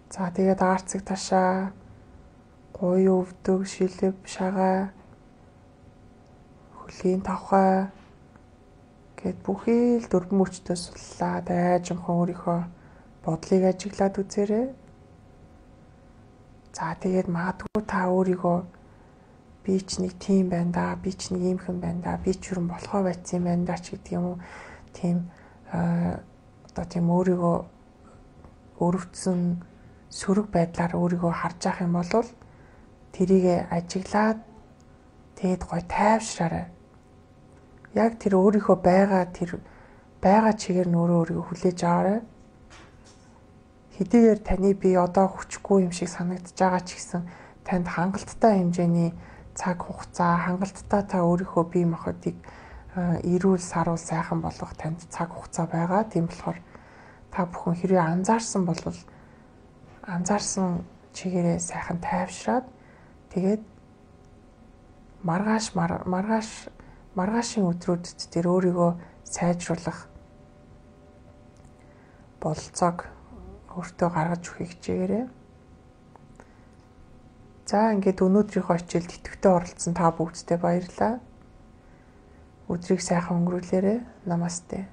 За тэгээд арцэг ташаа, гуй өвдөг, шилэв, шагаа, хөлийн тавхай гэд бүхий л дөрвөн мөчтөө суллаад айжимхан өөрийнхөө бодлыг ажиглаад үзээрэй. За тэгээд магадгүй та өөрийгөө би ч нэг тийм байна да, би ч нэг иймхэн байна да, би ч юрэн болохоо байцсан юм байна да ч гэдэг юм уу. Тийм одоо тийм өөрийгөө өрөвдсөн сөрөг байдлаар өөрийгөө харж ах юм бол тэрийг ажиглаад тэгэд гой тайвшраарай. Яг тэр өөрийнхөө байгаа тэр байгаа чигээр нь өөрөө өөрийгөө хүлээж аваарай. Хэдийгээр таны бие одоо хүчгүй юм шиг санагдаж байгаа ч гэсэн танд хангалттай хэмжээний цаг хугацаа, хангалттай та өөрийнхөө бие махбодыг эрүүл саруул сайхан болгох танд цаг хугацаа байгаа. Тийм болохоор та бүхэн хэрвээ анзаарсан бол анзаарсан чигээрээ сайхан тайвшраад тэгээд маргааш маргааш маргаашийн өдрүүдэд тэр өөрийгөө сайжруулах бололцоог өөртөө гаргаж өгөхийг хичээгээрэй. За ингээд өнөөдрийнхөө хичээлд идэвхтэй оролцсон та бүгдтэй баярлалаа. Өдрийг сайхан өнгөрүүлээрэй. Намасте.